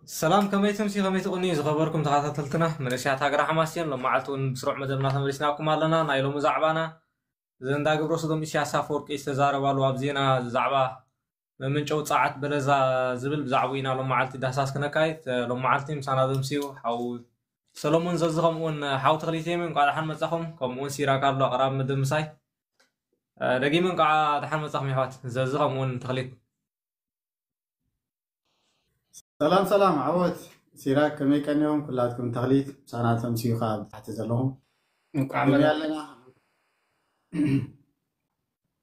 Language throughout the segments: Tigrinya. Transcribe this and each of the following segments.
ሰላም፣ ከመይ ትምሲ፣ ከመይ ትቕንዩ ዝኸበርኩም ተኸታተልትና? መንእሰያት ሃገረ ሓማሴን፣ ሎም መዓልቲ እውን ብስሩዕ መደብና ተመሊስናኩም ኣለና። ናይ ሎሚ ዛዕባና፣ ዘንዳ ግብረ ሰዶም ኢሳያስ ኣፈወርቂ ዝተዛረባሉ ኣብ ዜና ዛዕባ መመንጨዊ ጸዓት በለዛ ዝብል ብዛዕባኡ ኢና ሎም መዓልቲ ዳህሳስ ክነካይድ። ሎም መዓልቲ ምሳና ዘምስዩ ሓው ሰሎሞን ዘዚ፣ ከምኡውን ሓው ተኽሊት የሚ፣ እንቋዕ ደሓን መጻኹም። ከምኡውን ሲራክ ኣሎ ኣቕራቢ መደብ ምሳይ። ደጊመ እንቋዕ ደሓን መጻኹም የሕዋት ዘዚ፣ ከምኡውን ተኽሊት። ሰላም ሰላም ዓወት። ሲራክ ከመይ ቀኒኹም? ኩላትኩም ተኽሊት ምሳና ተምስዩ ከዓ ብታሕቲ ዘለኹም እንቋዕ ከመይ መ- ኣለና?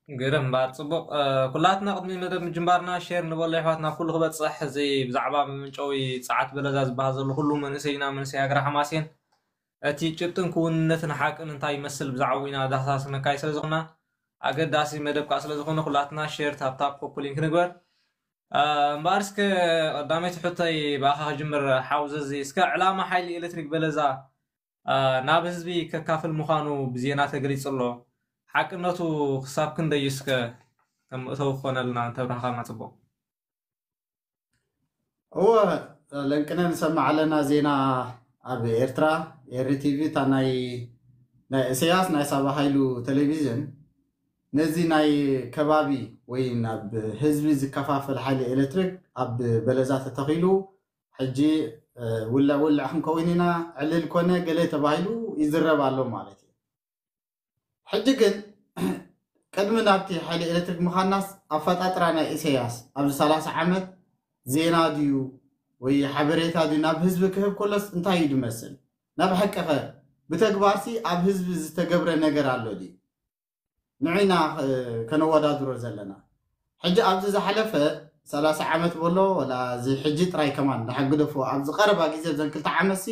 ግርም እምበኣር ጽቡቕ። ኩላትና ቅድሚ መደብ ምጅማርና ሼር ንበሎ የሕዋትና፣ ኩሉ ክበጽሕ፣ እዚ ብዛዕባ መመንጨዊ ጸዓት በለዛ ዝበሃል ዘሎ ኩሉ መንእሰይና፣ መንእሰይ ሃገረ ሓማሴን፣ እቲ ጭብጥን ክውንነትን ሓቅን እንታይ ይመስል ብዛዕባኡ ኢና ዳህሳስ ነካይ ስለ ዝኾና፣ ኣገዳሲ መደብ ከዓ ስለ ዝኾነ ኩላትና ሼር፣ ታፕታፕ፣ ኮፒ ሊንክ ንግበር። እምበኣር እስከ ቀዳመይቲ ሕቶይ ብኣኻ ክጅምር ሓው ዘዚ። እስከ ዕላማ ሓይሊ ኤሌክትሪክ በለዛ ናብ ህዝቢ ከካፍል ምዃኑ ብዜና ተገሊጹ ኣሎ። ሓቅነቱ ክሳብ ክንደይ እስከ ከም መእተዊ ክኾነልና እንተብራህኻልና ጽቡቕ። እወ፣ ለንቅነ ንሰምዕ ኣለና ዜና ኣብ ኤርትራ፣ ኤሪ ቲቪ፣ እታ ናይ ናይ ኢሳያስ ናይ ሳባ ሃይሉ ቴሌቪዥን ነዚ ናይ ከባቢ ወይ ናብ ህዝቢ ዝከፋፈል ሓይሊ ኤሌክትሪክ ኣብ በለዛ ተተኺሉ ሕጂ ውልዕ ውልዕ ክንከውን ኢና ዕልል ኮነ ገለ ተባሂሉ ይዝረብ ኣሎ ማለት እዩ። ሕጂ ግን ቅድሚ ናብቲ ሓይሊ ኤሌክትሪክ ምዃናስ ኣፈጣጥራ ናይ ኢሳያስ ኣብዚ ሰላሳ ዓመት ዜና ድዩ ወይ ሓበሬታ ድዩ ናብ ህዝቢ ክህብ ከሎስ እንታይ እዩ ዝመስል? ናብ ሓቂ ኸ ብተግባርሲ ኣብ ህዝቢ ዝተገብረ ነገር ኣሎ ድዩ? ንዒና ከነወዳድሮ ዘለና ሕጂ ኣብዚ ዝሓለፈ ሰላሳ ዓመት በሎ ወላ እዚ ሕጂ ጥራይ ከማን ንሓግደፎ ኣብዚ ቀረባ ግዜ ዘን ክልተ ዓመትሲ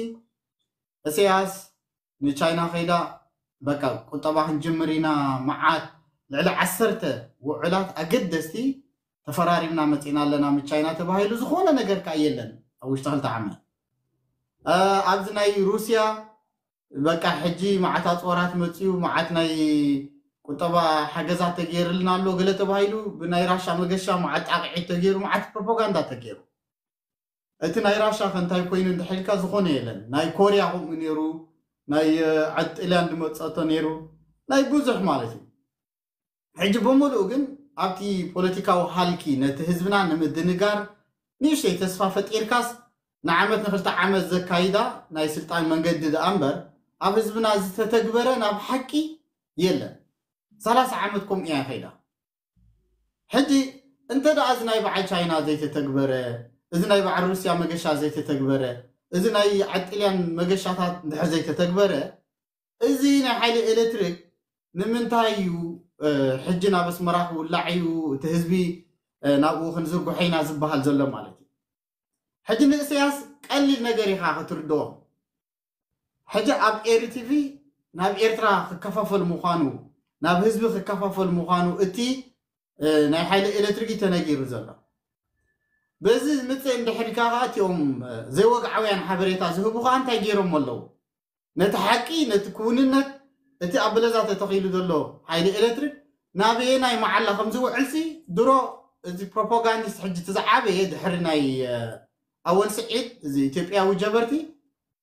ኢሳያስ ንቻይና ከይዳ በቃ ቁጠባ ክንጅምር ኢና መዓት ልዕሊ ዓሰርተ ውዕላት ኣገደስቲ ተፈራሪምና መፂና ኣለና ምስ ቻይና ተባሂሉ ዝኾነ ነገር ከዓ የለን ኣብ ውሽጢ ክልተ ዓመት ኣብዚ ናይ ሩስያ በቃ ሕጂ መዓት ኣፅዋራት መፅዩ መዓት ናይ ቁጠባ ሓገዛት ተገይርልና ኣሎ ገለ ተባሂሉ ብናይ ራሻ መገሻ መዓት ጣቕዒት ተገይሩ መዓት ፕሮፓጋንዳ ተገይሩ እቲ ናይ ራሻ ከ እንታይ ኮይኑ እንድሕልካ ዝኾነ የለን ናይ ኮርያ ከምኡ ነይሩ ናይ ዓድ ጥልያን ዝመፀቶ ነይሩ ናይ ብዙሕ ማለት እዩ ሕጂ ብምሉኡ ግን ኣብቲ ፖለቲካዊ ሃልኪ ነቲ ህዝብና ንምድንጋር ንእሽተይ ተስፋ ፈጢርካስ ንዓመት ንክልተ ዓመት ዘካይዳ ናይ ስልጣን መንገዲ ደኣ እምበር ኣብ ህዝብና ዝተተግበረ ናብ ሓቂ የለን። ሰላሳ ዓመት ከምኡ እያ ከይዳ። ሕጂ እንተ ደኣ እዚ ናይ በዓል ቻይና ዘይተተግበረ፣ እዚ ናይ በዓል ሩስያ መገሻ ዘይተተግበረ፣ እዚ ናይ ዓጥልያን መገሻታት እንድሕር ዘይተተግበረ፣ እዚ ናይ ሓይሊ ኤሌክትሪክ ንምንታይ እዩ ሕጂ ናብ ኣስመራ ክውላዕ እዩ እቲ ህዝቢ ናብኡ ክንዝርግሖ ኢና ዝበሃል ዘሎ ማለት እዩ። ሕጂ ንእሰያስ ቀሊል ነገር ኢኻ ክትርድኦ። ሕጂ ኣብ ኤሪ ቲቪ ናብ ኤርትራ ክከፋፈል ምዃኑ ናብ ህዝቢ ክከፋፈል ምዃኑ እቲ ናይ ሓይሊ ኤሌክትሪክ እዩ ተነጊሩ ዘሎ። በዚ ምፅእ እንድሕር ኢልካ ከዓ እቲኦም ዘይወግዓውያን ሓበሬታ ዝህቡ ከዓ እንታይ ገይሮም ኣለዉ? ነቲ ሓቂ ነቲ ክውንነት እቲ ኣብ በለዛ ተተኺሉ ዘሎ ሓይሊ ኤሌክትሪክ ናበየናይ መዓላ ከም ዝውዕልሲ ድሮ እዚ ፕሮፓጋንዲስት ሕጂ እቲ ዝዓበየ ድሕሪ ናይ ኣወል ስዒድ እዚ ኢትዮጵያዊ ጀበርቲ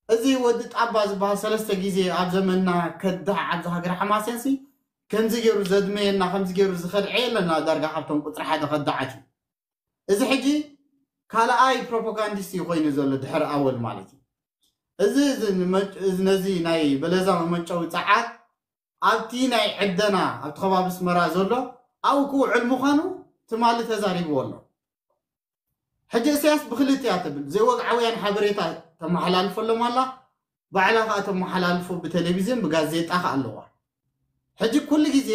እዚ ወዲ ጣባ ዝበሃል ሰለስተ ግዜ ኣብ ዘመንና ከዳዕ ኣብዚ ሃገር ሓማሴንሲ ከምዚ ገይሩ ዘድመየና ከምዚ ገይሩ ዝኸድዐ የለና ዳርጋ ካብቶም ቁፅሪ ሓደ ከዳዓት እዩ። እዚ ሕጂ ካልኣይ ፕሮፓጋንዲስት እዩ ኮይኑ ዘሎ ድሕሪ ኣወል ማለት እዩ። እዚ ነዚ ናይ በለዛ መመንጨዊ ፀዓት ኣብቲ ናይ ዕደና ኣብቲ ከባቢ ኣስመራ ዘሎ ኣብኡ ክውዕል ምዃኑ ትማሊ ተዛሪብዎ ኣሎ። ሕጂ እስያስ ብክልቲኣ ትብል ዘይወግዓውያን ሓበሬታ ተመሓላልፈሎም ኣላ። ባዕላ ከዓ ተመሓላልፎ ብቴሌቪዝን ብጋዜጣ ከዓ ኣለዋ። ሕጂ ኩሉ ግዜ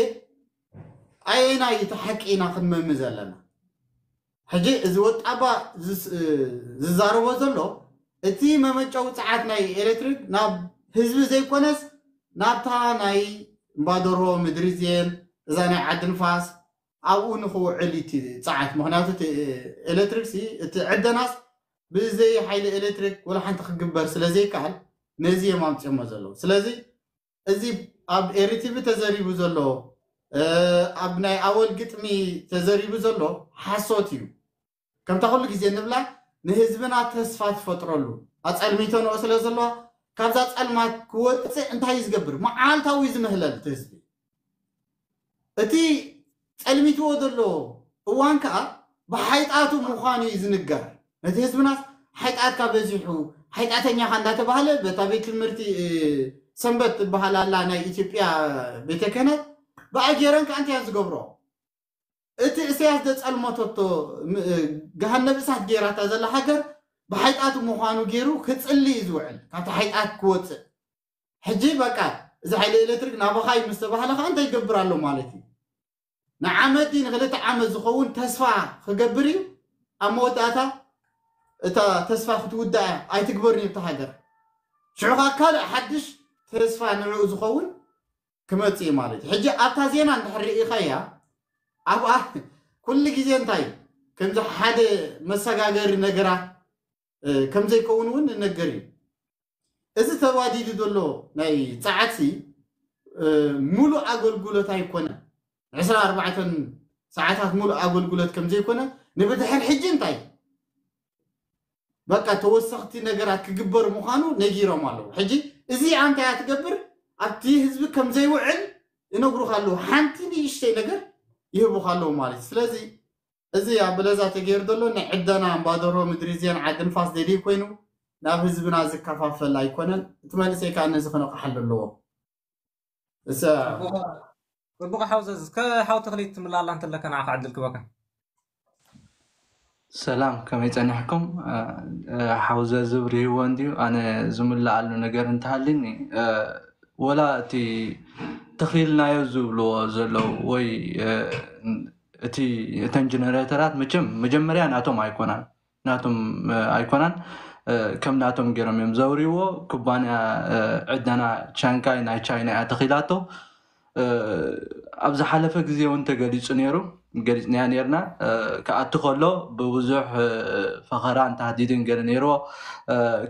ኣየናይ እቲ ሓቂ ኢና ክንመሚ ዘለና? ሕጂ እዚ ወጣባ ዝዛረቦ ዘሎ እቲ መመጨዊ ፀዓት ናይ ኤሌክትሪክ ናብ ህዝቢ ዘይኮነስ ናብታ ናይ እምባደርሆ ምድሪ ዜን እዛ ናይ ዓዲ ንፋስ ኣብኡ ንክውዕል እቲ ፀዓት ምክንያቱ ኤሌክትሪክ እቲ ዕደናስ ብዘይ ሓይሊ ኤሌክትሪክ ወላ ሓንቲ ክግበር ስለዘይከኣል ነዚ እዮም ኣምፅኦሞ ዘለዉ ስለዚ እዚ ኣብ ኤሪቲቪ ተዘሪቡ ዘሎ ኣብ ናይ ኣወል ግጥሚ ተዘሪቡ ዘሎ ሓሶት እዩ። ከምታ ኩሉ ግዜ ንብላ ንህዝብና ተስፋ ትፈጥረሉ። ኣጸልሚቶ ንኦ ስለ ዘለዋ ካብዛ ጸልማት ክወፅእ እንታይ እዩ ዝገብር? መዓልታዊ ዝምህለል እቲ ህዝቢ። እቲ ጸልሚትዎ ዘሎ እዋን ከዓ ብሓይጣቱ ምዃኑ እዩ ዝንገር። ነቲ ህዝብናስ ሓይጣትካ በዚሑ፣ ሓይጣተኛኻ እንዳተባሃለ በታ ቤት ትምህርቲ ሰንበት ትበሃል ኣላ ናይ ኢትዮጵያ ቤተ ክህነት ብኣጌረን ከዓ እንታይ ዝገብሮ? እቲ እሰያስ ዘጸልመተቶ ገሃነብ እሳት ገይራታ ዘላ ሃገር ብሓይጣቱ ምዃኑ ገይሩ ክጽሊ እዩ ዝውዕል፣ ካብቲ ሓይጣት ክወፅእ። ሕጂ በቃ እዚ ሓይሊ ኤሌክትሪክ ናባኻ እዩ ምስ ተባህለ ከዓ እንታይ ይገብር ኣሎ ማለት እዩ? ንዓመት ድዩ ንክልተ ዓመት ዝኸውን ተስፋ ክገብር እዩ። ኣብ መወዳእታ እታ ተስፋ ክትውዳእ እያ፣ ኣይትግበርን እዩ እታ ሃገር። ሽዑ ከዓ ካልእ ሓድሽ ተስፋ ንዕኡ ዝኸውን ክመጽእ እዩ ማለት እዩ። ሕጂ ኣብታ ዜና እንድሕር ርኢኻያ ኣብኣ ኩሉ ግዜ እንታይ ከምዚ ሓደ መሰጋገሪ ነገራት ከምዘይከውን እውን ንነገር እዩ። እዚ ተዋዲዱ ዘሎ ናይ ጸዓትሲ ሙሉእ ኣገልግሎት ኣይኮነን። ዕስራ ኣርባዕተን ሰዓታት ሙሉእ ኣገልግሎት ከምዘይኮነ ንብድሕር ሕጂ እንታይ በቃ ተወሰኽቲ ነገራት ክግበር ምዃኑ ነጊሮም ኣለዉ። ሕጂ እዚ ኣንታይ ትገብር ኣብቲ ህዝቢ ከምዘይውዕል ይነግሩኻ ኣለዉ። ሓንቲ ንእሽተይ ነገር ይህቡኻ ኣለዉ ማለት እዩ። ስለዚ እዚ ኣብ በለዛ ተገይሩ ዘሎ ናይ ዕደና እምባደሮ ምድሪ ዜን ዓዲ ንፋስ ደልዩ ኮይኑ ናብ ህዝብና ዝከፋፈል ኣይኮነን። እቲ መንእሰይ ከዓ ነዚ ክነቕሓሉ ኣለዎ። እሰ ጽቡቕ ሓው ዘዝ እስከ ሓው ተኽሊት ትምላላ እንተለካ ንዓኻ ዕድል ክበካ። ሰላም ከመይ ጸኒሕኩም? ሓው ዘዝብ ርህዎ እንድዩ ኣነ ዝምልኣሉ ነገር እንተሃልኒ ወላ እቲ ተኺልናዮ ዝብልዎ ዘለዉ ወይ እቲ እተን ጀነሬተራት መቸም መጀመርያ ናቶም ኣይኮናን ናቶም ኣይኮናን ከም ናቶም ገይሮም እዮም ዘውርይዎ። ኩባንያ ዕደና ቻንካይ ናይ ቻይና እያ ተኺላቶ። ኣብ ዝሓለፈ ግዜ እውን ተገሊፁ ነይሩ ገሊፅናያ ነርና ክኣቱ ከሎ ብብዙሕ ፈኸራን ታህዲድን ገለ ነይርዎ።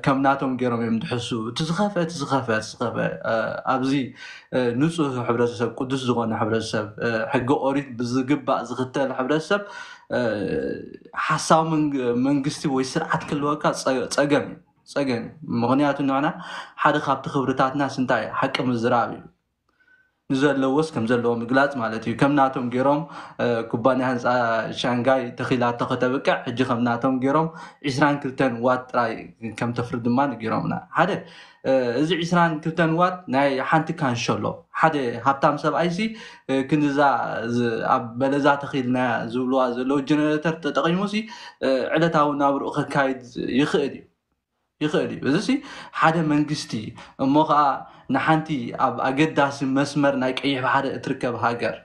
ከም ናቶም ገይሮም እዮም ድሕሱ እቲ ዝኸፈ እቲ ዝኸፈ እቲ ዝኸፈ ኣብዚ ንፁህ ሕብረተሰብ ቅዱስ ዝኾነ ሕብረተሰብ ሕጊ ኦሪት ብዝግባእ ዝኽተል ሕብረተሰብ ሓሳዊ መንግስቲ ወይ ስርዓት ክህልወካ ፀገም እዩ ፀገም እዩ። ምክንያቱ ንዕና ሓደ ካብቲ ክብርታትና ስንታይ ሓቂ ምዝራብ እዩ። ንዘለዎስ ከም ዘለዎ ምግላፅ ማለት እዩ። ከም ናቶም ገይሮም ኩባንያ ህንፃ ሻንጋይ ተኺላቶ ከተብቅዕ ሕጂ ከም ናቶም ገይሮም ዒስራን ክልተን ዋት ጥራይ ከም ተፍሪ ድማ ንገይሮምና። ሓደ እዚ ዒስራን ክልተን ዋት ናይ ሓንቲ ካንሸሎ ሓደ ሃብታም ሰብኣይሲ ክንዛ ኣብ በለዛ ተኺልና ዝብልዋ ዘለዉ ጀነሬተር ተጠቒሙሲ ዕለታዊ ናብርኡ ከካይድ ይኽእል እዩ ይኽእል እዩ። እዚሲ ሓደ መንግስቲ እሞ ከዓ ንሓንቲ ኣብ ኣገዳሲ መስመር ናይ ቀይሕ ባሕሪ እትርከብ ሃገር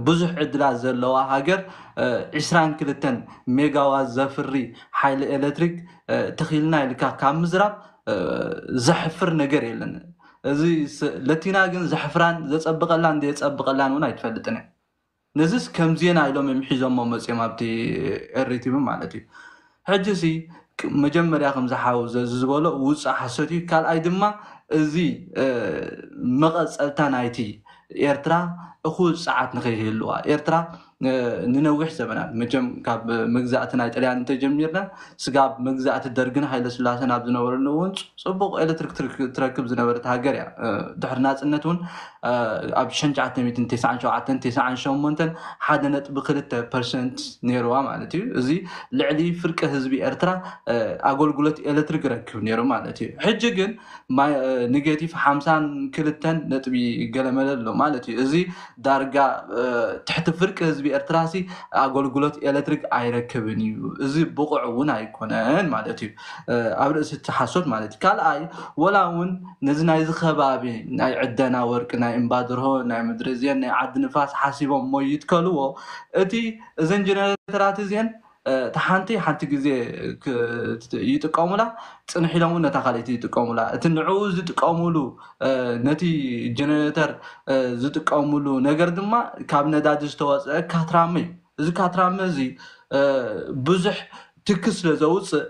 ብዙሕ ዕድላት ዘለዋ ሃገር ዒስራን ክልተን ሜጋዋት ዘፍሪ ሓይሊ ኤሌክትሪክ ተኺልና ኢልካ ካብ ምዝራብ ዘሕፍር ነገር የለን። እዚ ለቲና ግን ዘሕፍራን ዘፀብቐላን ዘየፀብቐላን እውን ኣይትፈልጥን እያ። ነዚስ ከም ዜና ኢሎም እዮም ሒዞሞ መፅዮም ኣብቲ ኤሪቲቪ ማለት እዩ። ሕጂ ሲ መጀመርያ ከም ዝሓው ዝበሎ ውፅእ ሓሶት እዩ። ካልኣይ ድማ እዚ መቐፀልታ ናይቲ ኤርትራ እኹል ፀዓት ንኸይህልዋ ኤርትራ ንነዊሕ ዘመናት መቸም ካብ መግዛእቲ ናይ ጥልያን እንተጀሚርና ስጋብ መግዛእቲ ደርግን ሃይለ ስላሰን ኣብ ዝነበረሉ እውን ፅቡቕ ኤሌክትሪክ ትረክብ ዝነበረት ሃገር እያ። ድሕሪ ናፅነት እውን ኣብ ሽሕን ትሽዓተ ሚእትን ተስዓን ሸውዓተን ተስዓን ሸሞንተን ሓደ ነጥቢ ክልተ ፐርሰንት ነይርዋ ማለት እዩ። እዚ ልዕሊ ፍርቂ ህዝቢ ኤርትራ ኣገልግሎት ኤሌክትሪክ ይረክብ ነይሩ ማለት እዩ። ሕጂ ግን ኔጌቲቭ ሓምሳን ክልተን ነጥቢ ገለመለ ኣሎ ማለት እዩ። እዚ ዳርጋ ትሕቲ ፍርቂ ህዝቢ ኤርትራሲ ኣገልግሎት ኤሌክትሪክ ኣይረክብን እዩ። እዚ ብቑዕ እውን ኣይኮነን ማለት እዩ። ኣብ ርእሲ እቲ ሓሶት ማለት እዩ። ካልኣይ ወላ እውን ነዚ ናይዚ ከባቢ ናይ ዕደና ወርቂ ናይ እምባድርሆ ናይ ምድሪ እዚአን ናይ ዓዲ ንፋስ ሓሲቦም እሞ ይትከልዎ እቲ እዘን ጀነሬተራት እዚአን እታ ሓንቲ ሓንቲ ግዜ ይጥቀሙላ ፅንሕ ኢሎም እውን ነታ ካልኣይቲ ይጥቀሙላ። እቲ ንዕኡ ዝጥቀሙሉ ነቲ ጀነሬተር ዝጥቀሙሉ ነገር ድማ ካብ ነዳዲ ዝተወፀአ ካትራመ እዩ። እዚ ካትራመ እዚ ብዙሕ ትኪ ስለ ዘውፅእ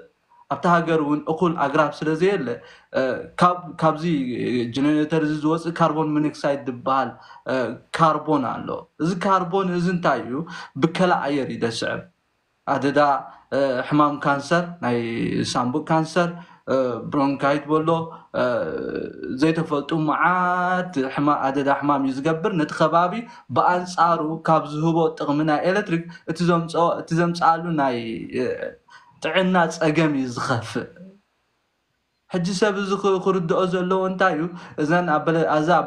ኣብቲ ሃገር እውን እኹል ኣግራብ ስለ ዘየለ ካብዚ ጀነሬተር እዚ ዝወፅእ ካርቦን ሞኖክሳይድ ዝበሃል ካርቦን ኣሎ። እዚ ካርቦን እዚ እንታይ እዩ? ብከላ ኣየር እዩ ደስዕብ። ኣደዳ ሕማም ካንሰር፣ ናይ ሳምቡእ ካንሰር፣ ብሮንካይት በሎ፣ ዘይተፈልጡ መዓት ሕማ ኣደዳ ሕማም እዩ ዝገብር። ነቲ ከባቢ ብኣንጻሩ ካብ ዝህቦ ጥቕሚ ናይ ኤሌክትሪክ እቲ ዘምጽኣሉ ናይ ጥዕና ጸገም እዩ ዝኸፍእ። ሕጂ ሰብ እዚ ክርድኦ ዘለዎ እንታይ እዩ? እዛ ኣብ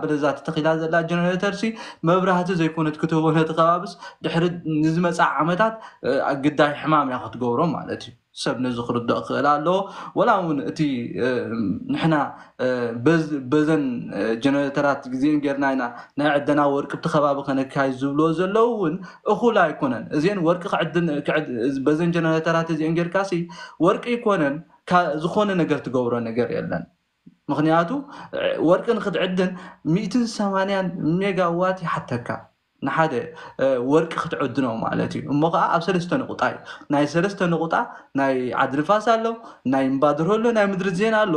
በለዛ ተተኺላ ዘላ ጀነሬተር ሲ መብራህቲ ዘይኮነት ክትህቦ ነቲ ከባብስ ድሕሪ ንዝመፅእ ዓመታት ግዳይ ሕማም እያ ክትገብሮ ማለት እዩ። ሰብ ነዚ ክርድኦ ክኽእል ኣለዎ። ወላ እውን እቲ ንሕና በዘን ጀነሬተራት ግዜን ጌርና ኢና ናይ ዕደና ወርቂ ብቲ ከባቢ ከነካይድ ዝብልዎ ዘለዉ እውን እኹል ኣይኮነን። እዚአን ወርቂ በዘን ጀነሬተራት እዚአን ጌርካ ሲ ወርቂ ኣይኮነን ዝኾነ ነገር ትገብሮ ነገር የለን። ምክንያቱ ወርቂ ንክትዕድን ሚእትን ሰማንያን ሜጋዋት ይሓተካ ንሓደ ወርቂ ክትዕድኖ ማለት እዩ። እሞ ከዓ ኣብ ሰለስተ ንቁጣ እዩ። ናይ ሰለስተ ንቁጣ ናይ ዓዲ ንፋስ ኣሎ፣ ናይ እምባድር ኣሎ፣ ናይ ምድሪ ዜና ኣሎ።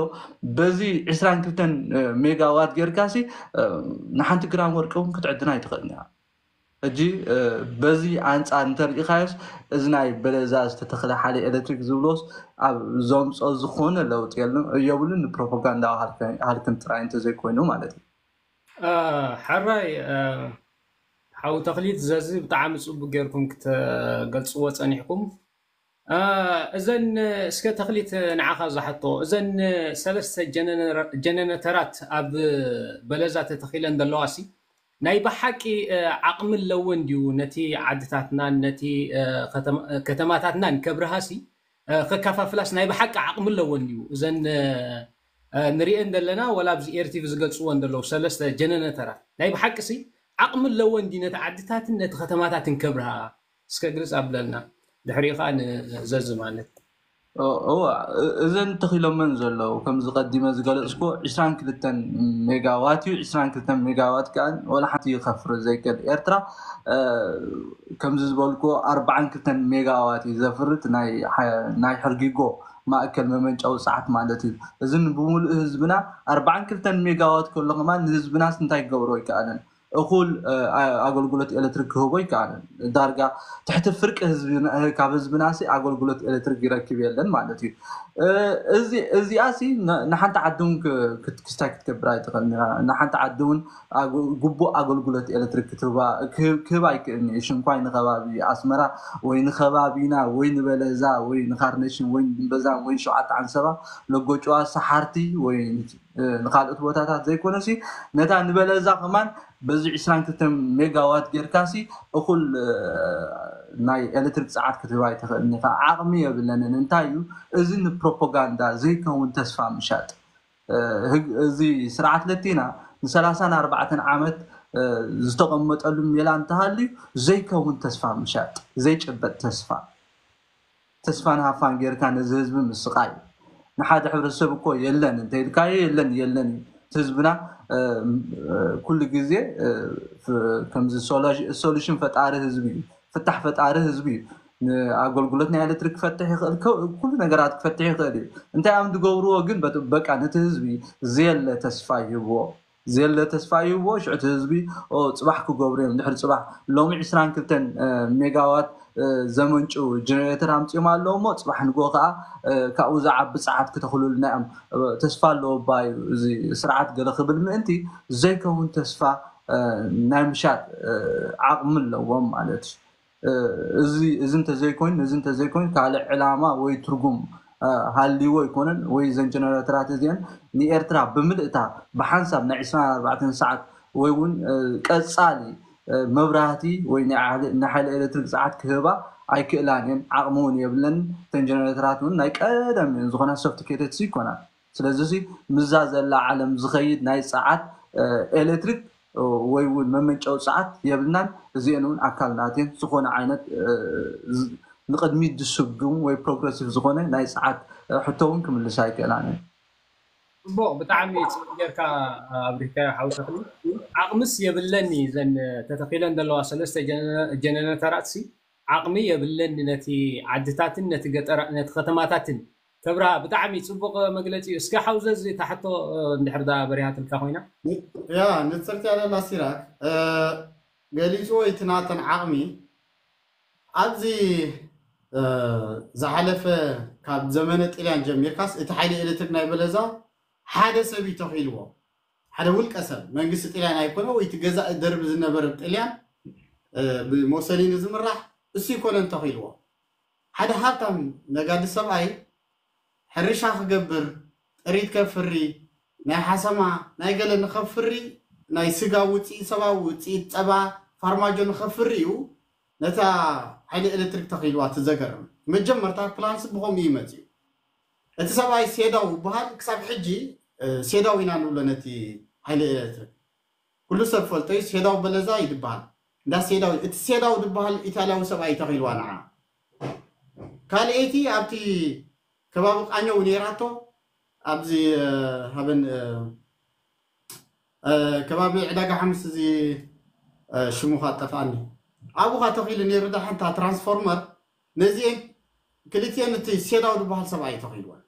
በዚ ዕስራን ክልተን ሜጋዋት ጌርካሲ ንሓንቲ ግራም ወርቂ እውን ክትዕድና ኣይትኽእልን እያ። ሕጂ በዚ ኣንፃር እንተሪኢኻዮስ እዚ ናይ በለዛ ዝተተኽለ ሓይሊ ኤሌክትሪክ ዝብሎስ ኣብ ዘምፅኦ ዝኾነ ለውጢ የብሉን። ንፕሮፓጋንዳ ሃልክን ጥራይ እንተዘይኮይኑ ማለት እዩ። ሕራይ ሓው ተኽሊት ዘዚ ብጣዕሚ ፅቡቅ ጌርኩም ክትገልፅዎ ፀኒሕኩም። እዘን እስከ ተኽሊት ንዓኻ ዝሓቶ እዘን ሰለስተ ጀነነተራት ኣብ በለዛ ተተኺለን ዘለዋ ሲ ናይ ብሓቂ ዓቕሚ ኣለወን ድዩ ነቲ ዓድታትናን ነቲ ከተማታትናን ከብርሃ ሲ ከካፋፍላስ ናይ ብሓቂ ዓቕሚ ኣለወን ድዩ እዘን ንሪኤን ዘለና ወላ ኣብዚ ኤርቲቪ ዝገልፅወን ዘለዉ ሰለስተ ጀነነተራት ናይ ብሓቂ ሲ ዓቕሚ ኣለወን ድዩ ነቲ ዓድታትን ነቲ ከተማታትን ከብርሃ እስከ ግልፅ ኣብለልና ድሕሪኡ ከዓ ንዘዚ ማለት እወ እዘን ተኺሎመን ዘለዉ ከምዚ ቀዲመ ዝገለፅኩ ዕስራን ክልተን ሜጋዋት እዩ። ዕስራን ክልተን ሜጋዋት ከዓ ወላ ሓንቲ ይኸፍር ዘይክእል ኤርትራ ከምዚ ዝበልኩ ኣርባዓን ክልተን ሜጋዋት እዩ ዘፍርት ናይ ሕርጊጎ ማእከል መመንጨዊ ፀዓት ማለት እዩ። እዚ ብሙሉእ ህዝብና ኣርባዓን ክልተን ሜጋዋት ከሎ ከማን ንህዝብናስ እንታይ ክገብሮ ይከኣለን? እኹል ኣገልግሎት ኤሌክትሪክ ክህቦ ይከኣለን። ዳርጋ ትሕቲ ፍርቂ ካብ ህዝብናሲ ኣገልግሎት ኤሌክትሪክ ይረክብ የለን ማለት እዩ። እዚኣሲ ንሓንቲ ዓዲ እውን ክስታይ ክትገብር ኣይትኽእል። ንሓንቲ ዓዲ እውን ግቡእ ኣገልግሎት ኤሌክትሪክ ክህባ ኣይክእልን እዩ። ሽንኳይ ንከባቢ ኣስመራ ወይ ንከባቢና ወይ ንበለዛ ወይ ንካርነሽን ወይ ንድንበዛን ወይ ንሸውዓተ ዓንሰባ ለጎጭዋ ሰሓርቲ ወይ ንካልኦት ቦታታት ዘይኮነሲ ነታ ንበለዛ ከማን በዚ ዕስራን ክልተን ሜጋዋት ጌርካሲ እኹል ናይ ኤሌክትሪክ ፀዓት ክትህባ ኣይትኽእልን ኢኻ። ዓቕሚ የብለንን። እንታይ እዩ እዚ ንፕሮፓጋንዳ ዘይከውን ተስፋ ምሻጥ። እዚ ስርዓት ለቲና ንሰላሳን ኣርባዕተን ዓመት ዝተቐመጠሉ ሜላ እንተሃልዩ ዘይከውን ተስፋ ምሻጥ፣ ዘይጭበጥ ተስፋ ተስፋን ሃፋን ጌርካ ነዚ ህዝቢ ምስቃይ ንሓደ ሕብረተሰብ እኮ የለን እንተኢልካዮ የለን የለን እዩ። ህዝብና ኩሉ ግዜ ከምዚ ሶሉሽን ፈጣሪ ህዝቢ እዩ፣ ፍታሕ ፈጣሪ ህዝቢ እዩ። ንኣገልግሎት ናይ ኤሌክትሪክ ክፈትሕ ይኽእል፣ ኩሉ ነገራት ክፈትሕ ይኽእል እዩ። እንታይ እዮም ዝገብርዎ ግን በቃ ነቲ ህዝቢ ዘየለ ተስፋ ይህብዎ። ዘየለ ተስፋ ይህብዎ። ሽዑ እቲ ህዝቢ ጽባሕ ክገብሩ እዮም። ድሕሪ ፅባሕ ሎሚ ዕስራን ክልተን ሜጋዋት ዘመንጩ ጀነሬተር ኣምፂኦም ኣለዉ እሞ ፅባሕ ንግሆ ከዓ ካብኡ ዝዓቢ ፀዓት ክተኽሉልና እዮም። ተስፋ ኣለዎ ባዩ እዚ ስርዓት ገለ ክብል ምእንቲ ዘይከውን ተስፋ ናይ ምሻጥ ዓቕሚ ኣለዎም ማለት እዩ። እዚ እዚ እንተዘይኮይኑ እዚ እንተዘይኮይኑ ካልእ ዕላማ ወይ ትርጉም ሃልይዎ ኣይኮነን ወይ እዘን ጀነሬተራት እዚአን ንኤርትራ ብምልእታ ብሓንሳብ ናይ ዕስራን ኣርባዕተን ሰዓት ወይ እውን ቀፃሊ መብራህቲ ወይ ናይ ሓይሊ ኤሌክትሪክ ፀዓት ክህባ ኣይክእላን እየን። ዓቕሚ እውን የብለን። እተን ጀነሬተራት እውን ናይ ቀደም እየን ዝኾና ሶፍቲኬትድ ይኮና። ስለዚ ምዛ ዘላ ዓለም ዝኸይድ ናይ ፀዓት ኤሌክትሪክ ወይ እውን መመንጨዊ ፀዓት የብልናን። እዚአን እውን ኣካል ናትየን ዝኾነ ዓይነት ንቅድሚት ዝስጉም ወይ ፕሮግረሲቭ ዝኾነ ናይ ፀዓት ሕቶ እውን ክምልሳ ኣይክእላን እየን። ፅቡቅ ብጣዕሚ ፅቡቅ ጌርካ ኣብሪካዮ ሓው ተኽሊ። ዓቕምስ የብለኒ ዘን ተተኺለን ዘለዋ ሰለስተ ጀነነተራት ሲ ዓቕሚ የብለኒ ነቲ ዓድታትን ነቲ ገጠራ ነቲ ከተማታትን ከብራ ብጣዕሚ ፅቡቅ መግለፂ እዩ። እስከ ሓውዘ እዚ ታሕቶ እንድሕር ዳ በሪሃትልካ ኮይና ያ ንፅርቲ ኣለላ ሲራክ ገሊፅዎ እቲ ናተን ዓቕሚ ኣብዚ ዝሓለፈ ካብ ዘመነ ጥልያን ጀሚርካስ እቲ ሓይሊ ኤሌክትሪክ ናይ በለዛ ሓደ ሰብ እዩ ተኺልዎ። ሓደ ውልቀ ሰብ፣ መንግስቲ ጥልያን ኣይኮነ ወይ እቲ ገዛእ ደርቢ ዝነበረ ጥልያን ብሞሰሊኒ ዝምራሕ እሱ ይኮነን ተኺልዎ። ሓደ ሃብታም ነጋዲ ሰብኣይ ሕርሻ ክገብር፣ ጥሪት ከፍሪ፣ ናይ ሓሰማ ናይ ገለ ንኸፍሪ፣ ናይ ስጋ ውፅኢት፣ ሰብኣዊ ውፅኢት፣ ፀባ፣ ፋርማጆ ንኸፍሪ እዩ ነታ ሓይሊ ኤሌክትሪክ ተኺልዋ። እቲ ዘገርም መጀመርታ ፕላንስ ብኸምኡ እዩ መፅዩ። እቲ ሰብኣይ ሴዳው ይበሃል። ክሳብ ሕጂ ሴዳው ኢና ንብሎ ነቲ ሓይሊ ኤሌክትሪክ። ኩሉ ሰብ ፈልጦ እዩ። ሴዳው በለዛ ይድበሃል። እንዳ ሴዳው፣ እቲ ሴዳው ድበሃል ኢታልያዊ ሰብኣይ ተኺልዋ ንዓ። ካልኣይቲ ኣብቲ ከባቢ ቃኘው ነይራቶ፣ ኣብዚ ሃበን ከባቢ ዕዳጋ ሓሙስ፣ እዚ ሽሙ ካ ጠፍኣኒ፣ ኣብኡ ካ ተኺሉ ነይሩ። ዳ ሓንታ ትራንስፎርመር ነዚኤን ክልቲኤን እቲ ሴዳው ዝበሃል ሰብኣይ ተኺልወን።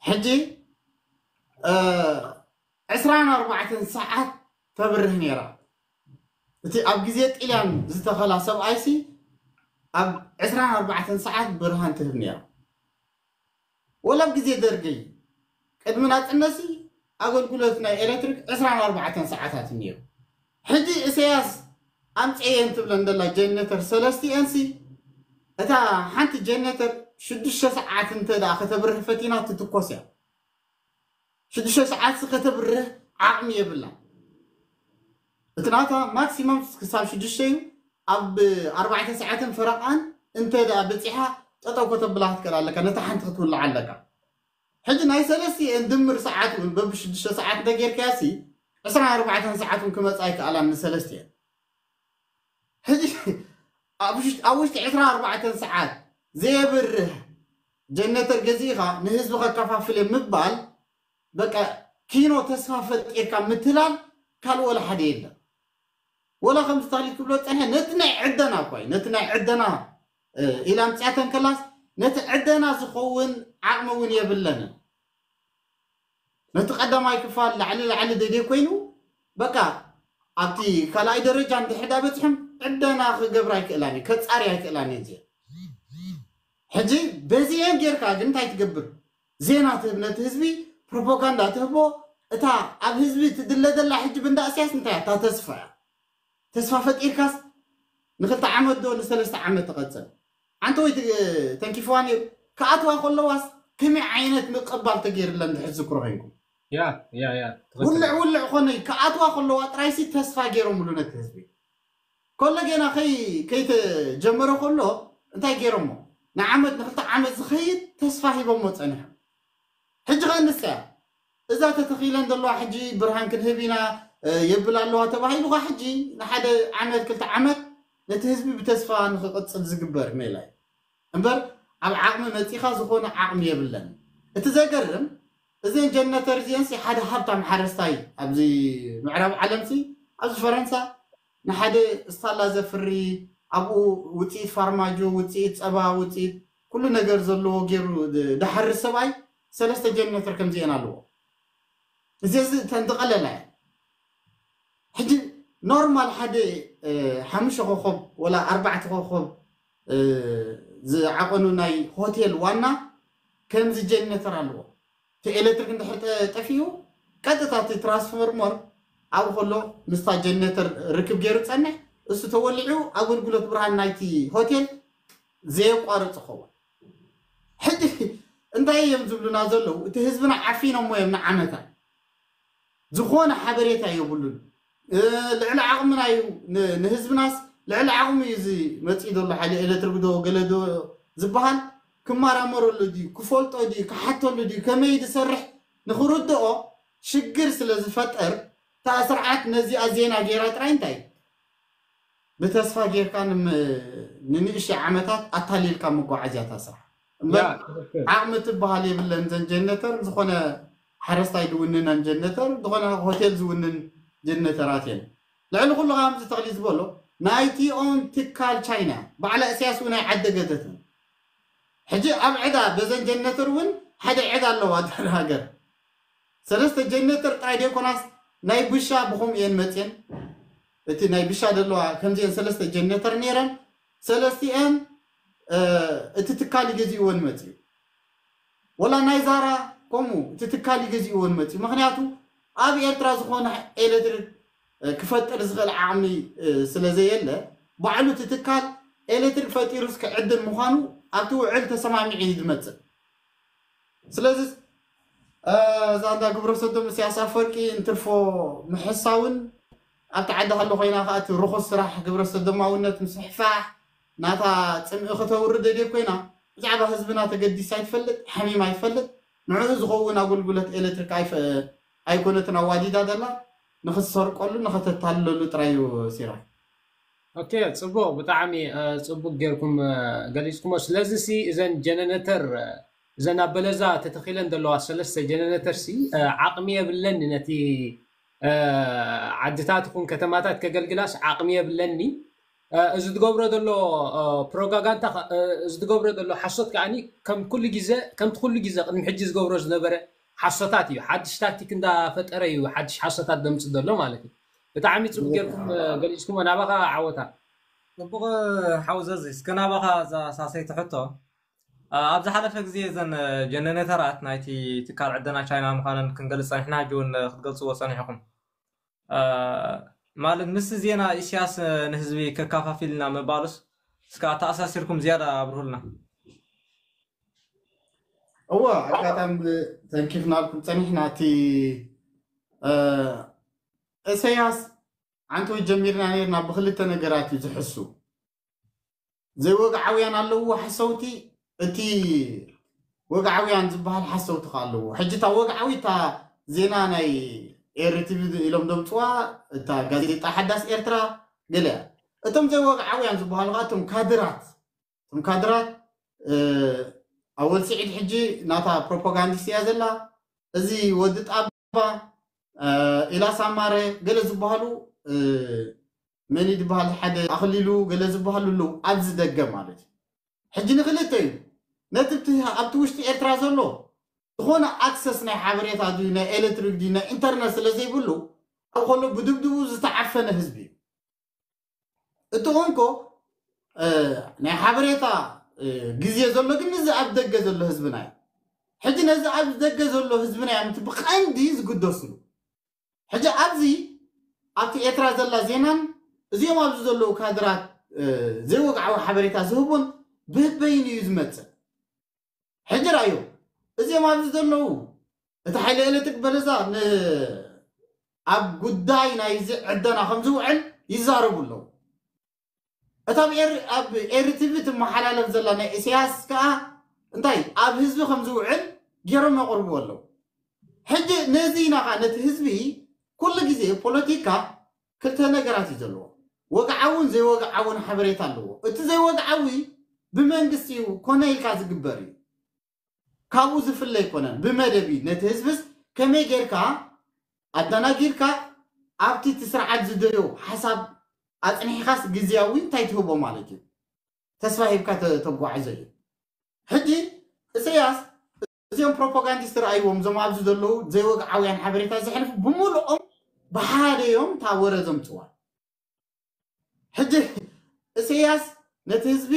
ሕጂ ዕስራን ኣርባዕተን ሰዓት ተብርህ ነይራ። እቲ ኣብ ግዜ ጥልያን ዝተኸላ ሰብኣይሲ ኣብ ዕስራን ኣርባዕተን ሰዓት ብርሃን ትህብ ነይራ። ወላ ኣብ ግዜ ደርጊ ቅድሚ ናፅነትሲ ኣገልግሎት ናይ ኤሌክትሪክ ዕስራን ኣርባዕተን ሰዓታት እዩ ነይሩ። ሕጂ እሰያስ ኣምፀየን ትብለን ዘላ ጀነተር ሰለስቲኤንሲ እታ ሓንቲ ጀነተር ሽዱሽተ ሰዓት እንተ ደኣ ከተብርህ ፈቲና ትትኮስ እያ። ሽዱሽተ ሰዓት ከተብርህ ዓቕሚ የብላ። እቲ ናታ ማክሲመም ክሳብ ሽዱሽተ እዩ። ኣብ ኣርባዕተ ሰዓትን ፈረቓን እንተ ደኣ በፂሓ ጠጠው ከተብላ ክትክእል ኣለካ፣ ነታ ሓንቲ ክትውልዓ ኣለካ። ሕጂ ናይ ሰለስቲኤን ድምር ሰዓት እውን በብሽዱሽተ ሰዓት እንተጌርካያሲ ዕስራን ኣርባዕተን ሰዓት እውን ክመፃ ኣይከኣላን ንሰለስቲኤን። ሕጂ ኣብ ውሽጢ ዕስራን ኣርባዕተን ሰዓት ዘየብርህ ጀነተር ገዚእኻ ንህዝቢ ከከፋፍል እየ ምባል በቃ ኪኖ ተስፋ ፈጢርካ ምትላል ካልእ ወላ ሓደ የለን። ወላ ከምዚ ታሊክ ክብሎ ፀንሐ ነቲ ናይ ዕደና እኳ እዩ፣ ነቲ ናይ ዕደና ኢላ ምፅያተን ከላስ ነቲ ዕደና ዝኸውን ዓቕሚ እውን የብለንን። ነቲ ቀዳማይ ክፋል ላዕሊ ላዕሊ ደደ ኮይኑ በቃ ኣብቲ ካልኣይ ደረጃ እንድሕዳ በፅሕም ዕደና ክገብር ኣይክእላን እዩ፣ ከፃሪ ኣይክእላን እዩ። ሕጂ በዚኤን ጌርካ ግን እንታይ ትገብር? ዜና ትህብ ነቲ ህዝቢ፣ ፕሮፓጋንዳ ትህቦ። እታ ኣብ ህዝቢ ትድለ ዘላ ሕጂ ብንዳ እስያስ እንታይ እያ? እታ ተስፋ እያ። ተስፋ ፈጢርካስ ንክልተ ዓመት ዶ ንሰለስተ ዓመት ትቐፅል? ኣንተ ወይ ተንኪፍዋ ነይሩ። ክኣትዋ ከለዋስ ከመይ ዓይነት ምቅባል ተገይርለን ድሕር ዝክሮ ኮይንኩም? ያ ያ ያ ውልዕ ውልዕ ኮነ ክኣትዋ ከለዋ ጥራይሲ ተስፋ ገይሮምሉ ነቲ ህዝቢ። ከሎ ጌና ከይ ከይተጀመረ ከሎ እንታይ ገይሮሞ? ንዓመት ንክልተ ዓመት ዝኸይድ ተስፋ ሂቦሞ ፀኒሖም። ሕጂ ከ ንሳ እያ እዛ ተተኺለን ዘለዋ ሕጂ ብርሃን ክንህብ ኢና የብል ኣለዋ ተባሂሉ ካ ሕጂ ንሓደ ዓመት ክልተ ዓመት ነቲ ህዝቢ ብተስፋ ንክቕፅል ዝግበር ሜላ እዩ እምበር ኣብ ዓቕሚ መፂኻ ዝኾነ ዓቕሚ የብለን። እቲ ዘገርም እዘን ጀነተር እዚአንሲ ሓደ ሃብታም ሓረስታይ ኣብዚ ምዕራብ ዓለምሲ ኣብዚ ፈረንሳ ንሓደ ስታላ ዘፍሪ ኣብኡ ውፅኢት ፋርማጆ ውፅኢት ፀባ ውፅኢት ኩሉ ነገር ዘለዎ ገይሩ ድሓርስ ሰብኣይ ሰለስተ ጀነተር ከምዚአን ኣለዎ። እዚ እዚ ተንተቐለላ እያ። ሕጂ ኖርማል ሓደ ሓሙሽተ ኮኾብ ወላ ኣርባዕተ ኮኾብ ዝዓቐኑ ናይ ሆቴል ዋና ከምዚ ጀነተር ኣለዎ። እቲ ኤሌክትሪክ እንድሕር ጠፊኡ ቀጥታ እቲ ትራንስፎርመር ኣብኡ ከሎ ምስታ ጀነተር ርክብ ገይሩ ፀንሕ እሱ ተወሊዑ ኣገልግሎት ብርሃን ናይቲ ሆቴል ዘየቋርፅ ኸውን። ሕጂ እንታይ እዮም ዝብሉና ዘለዉ? እቲ ህዝብና ዓፊኖሞ እዮም ንዓመታ ዝኾነ ሓበሬታ የብሉን። ልዕሊ ዓቕምና እዩ ንህዝብናስ ልዕሊ ዓቕሚ እዩ እዚ መፅኢ ዘሎ ሓይሊ ኤሌክትሪክ ዶ ገለ ዶ ዝበሃል ክመራመረሉ ድዩ ክፈልጦ ድዩ ክሓተሉ ድዩ ከመይ ዝሰርሕ ንክርድኦ ሽግር ስለ ዝፈጠር እታ ስርዓት ነዚኣ ዜና ገይራ ጥራይ እንታይ ብተስፋ ጌርካ ንንእሽተይ ዓመታት ኣታሊልካ መጓዓዝያ እታ ስራሕ እምበር ዓቕሚ ትበሃል የብለን። ዘን ጀነተር ዝኾነ ሓረስታይ ዝውንነን ጀነተር ዝኾነ ሆቴል ዝውንን ጀነተራት እየን። ልዕሊ ኩሉ ከምዚ ተኽሊ ዝበሎ ናይቲኦም ትካል ቻይና ባዕላ እስያስ እውን ኣይዓደገተትን። ሕጂ ኣብ ዕዳ በዘን ጀነተር እውን ሓደ ዕዳ ኣለዋ ሃገር ሰለስተ ጀነተር ጥራይ ደይኮናስ ናይ ብሻ ብኸምኡ እየን መፅየን። እቲ ናይ ብሻ ዘለዋ ከምዚአን ሰለስተ ጀነተር ነይረን ሰለስቲአን እቲ ትካል ይገዚእወን መፅዩ። ወላ ናይ ዛራ ከምኡ እቲ ትካል ይገዚእወን መፅዩ። ምክንያቱ ኣብ ኤርትራ ዝኾነ ኤሌክትሪክ ክፈጥር ዝኽእል ዓቕሚ ስለ ዘየለ፣ ባዕሉ እቲ ትካል ኤሌክትሪክ ፈጢሩስ ክዕድል ምዃኑ ኣብቲ ውዕል ተሰማሚዑ እዩ ዝመፅእ። ስለዚ እዛ እንዳ ግብረ ሰዶም እስያስ ኣፈወርቂ እንትርፎ ምሕሳውን ኣብቲ ዓዲ ከሎ ኮይና ከዓ እቲ ርኹስ ስራሕ ግብረ ሰዶማውነት ምስሕፋሕ ናታ ፅምኢ ክተውርድ ደልየ ኮይና ብዛዕባ ህዝብና ተገዲሳ ኣይትፈልጥ፣ ሓሚማ ኣይትፈልጥ። ንዕኡ ዝኸውን ኣገልግሎት ኤሌክትሪክ ኣይኮነትን ኣዋዲዳ ደላ፣ ንኽትሰርቀሉ ንኸተታልለሉ ጥራይ እዩ። ሲራ ኦኬ፣ ፅቡቅ፣ ብጣዕሚ ፅቡቅ ጌርኩም ገሊፅኩሞ። ስለዚ ሲ እዘን ጀነነተር እዘን ኣብ በለዛ ተተኺለን ዘለዋ ሰለስተ ጀነነተር ሲ ዓቕሚ የብለኒ፣ ነቲ ዓድታት ይኹን ከተማታት ከገልግላስ ዓቕሚ የብለኒ። እዚ ትገብሮ ዘሎ ፕሮጋጋንታ፣ እዚ ትገብሮ ዘሎ ሓሶት ከዓኒ ከም ኩሉ ግዜ፣ ከምቲ ኩሉ ግዜ ቅድሚ ሕጂ ዝገብሮ ዝነበረ ሓሶታት እዩ። ሓድሽ ታክቲክ እንዳፈጠረ እዩ ሓድሽ ሓሶታት ደምፅ ዘሎ ማለት እዩ። ብጣዕሚ ፅቡቅ ጌርኩም ገሊፅኩሞ። ናባኻ ዓወታ። ፅቡቅ ሓውዘዚ፣ እስከ ናባኻ እዛ ሳሰይቲ ሕቶ። ኣብ ዝሓለፈ ግዜ እዘን ጀነሬተራት ናይቲ ትካል ዕደና ቻይና ምዃነን ክንገልፅ ፀኒሕና፣ ሕጂ እውን ክትገልፅዎ ፀኒሕኹም። ማለት ምስ ዜና ኢሳያስ ንህዝቢ ከካፋፊልና ምባሉስ እስከ ኣተኣሳሲርኩም ዝያዳ ኣብርሁልና። እወ፣ ኣጋጣሚ ተንኪፍናልኩም ፀኒሕና። እቲ እሰያስ ዓንተወይ ጀሚርና ነርና ብክልተ ነገራት እዩ ዝሕሱ። ዘይወግዓውያን ኣለዎ ሓሰውቲ፣ እቲ ወግዓውያን ዝበሃል ሓሰውቲ ከ ኣለዎ። ሕጂ እታ ወግዓዊ እታ ዜና ናይ ኤሪ ቲቪ ኢሎም ደምፅዋ፣ እታ ጋዜጣ ሓዳስ ኤርትራ ገለ እያ። እቶም ዘይወግዓውያን ዝበሃሉ ከ እቶም ካድራት፣ እቶም ካድራት ኣወል ስዒድ ሕጂ ናታ ፕሮፓጋንዲስት እያ ዘላ። እዚ ወዲ ጣባ ኢላስ ኣማረ ገለ ዝበሃሉ መን ዝበሃል ሓደ ኣኽሊሉ ገለ ዝበሃሉ ኣለዉ ኣብዚ ደገ ማለት እዩ። ሕጂ ንክልተ እዩ ነቲ ኣብቲ ውሽጢ ኤርትራ ዘሎ ዝኾነ ኣክሰስ ናይ ሓበሬታ ድዩ ናይ ኤሌክትሪክ ድዩ ናይ ኢንተርነት ስለ ዘይብሉ ኣብ ከሎ ብድብድቡ ዝተዓፈነ ህዝቢ እዩ። እቲ እንኮ ናይ ሓበሬታ ግዜ ዘሎ ግን ነዚ ኣብ ደገ ዘሎ ህዝብና እዩ። ሕጂ ነዚ ኣብ ደገ ዘሎ ህዝብና እዮም እቲ ብቐንዲ ዝግደስሉ። ሕጂ ኣብዚ ኣብቲ ኤርትራ ዘላ ዜናን እዚኦም ኣብዚ ዘለዉ ካድራት ዘይወግዓዊ ሓበሬታ ዝህቡን ብህበይን እዩ ዝመፅእ። ሕጂ ራእዮ እዚኦም ኣብዚ ዘለዉ እቲ ሓይሊ ኤሌክትሪክ በለዛ ኣብ ጉዳይ ናይዚ ዕደና ከም ዝውዕል ይዛረቡ ኣለዉ። እታ ኣብ ኤሪ ቲቪ ትመሓላለፍ ዘላ ናይ ኢሳያስ ከዓ እንታይ ኣብ ህዝቢ ከም ዝውዕል ገይሮም የቕርብዎ ኣለዉ። ሕጂ ነዚ ኢና ከዓ ነቲ ህዝቢ ኩሉ ግዜ ፖለቲካ ክልተ ነገራት እዩ ዘለዎ። ወግዓውን ዘይወግዓውን ሓበሬታ ኣለዎ። እቲ ዘይወግዓዊ ብመንግስቲ እዩ ኮነ ኢልካ ዝግበር እዩ። ካብኡ ዝፍለ ኣይኮነን። ብመደብ እዩ ነቲ ህዝብስ ከመይ ጌርካ ኣደናጊርካ ኣብቲ እቲ ስርዓት ዝደልዮ ሓሳብ ኣፅኒሕካስ ግዝያዊ እንታይ ትህቦ ማለት እዩ። ተስፋ ሂብካ ተጓዕዞ እዩ። ሕጂ እሰያስ እዚኦም ፕሮፓጋንዲስት ረኣይዎም እዞም ኣብዚ ዘለዉ ዘይወግዓውያን ሓበሬታ ዘሕልፉ ብምልኦም ብሓደ እዮም እታ ወረ ዘምፅዋ። ሕጂ እሰያስ ነቲ ህዝቢ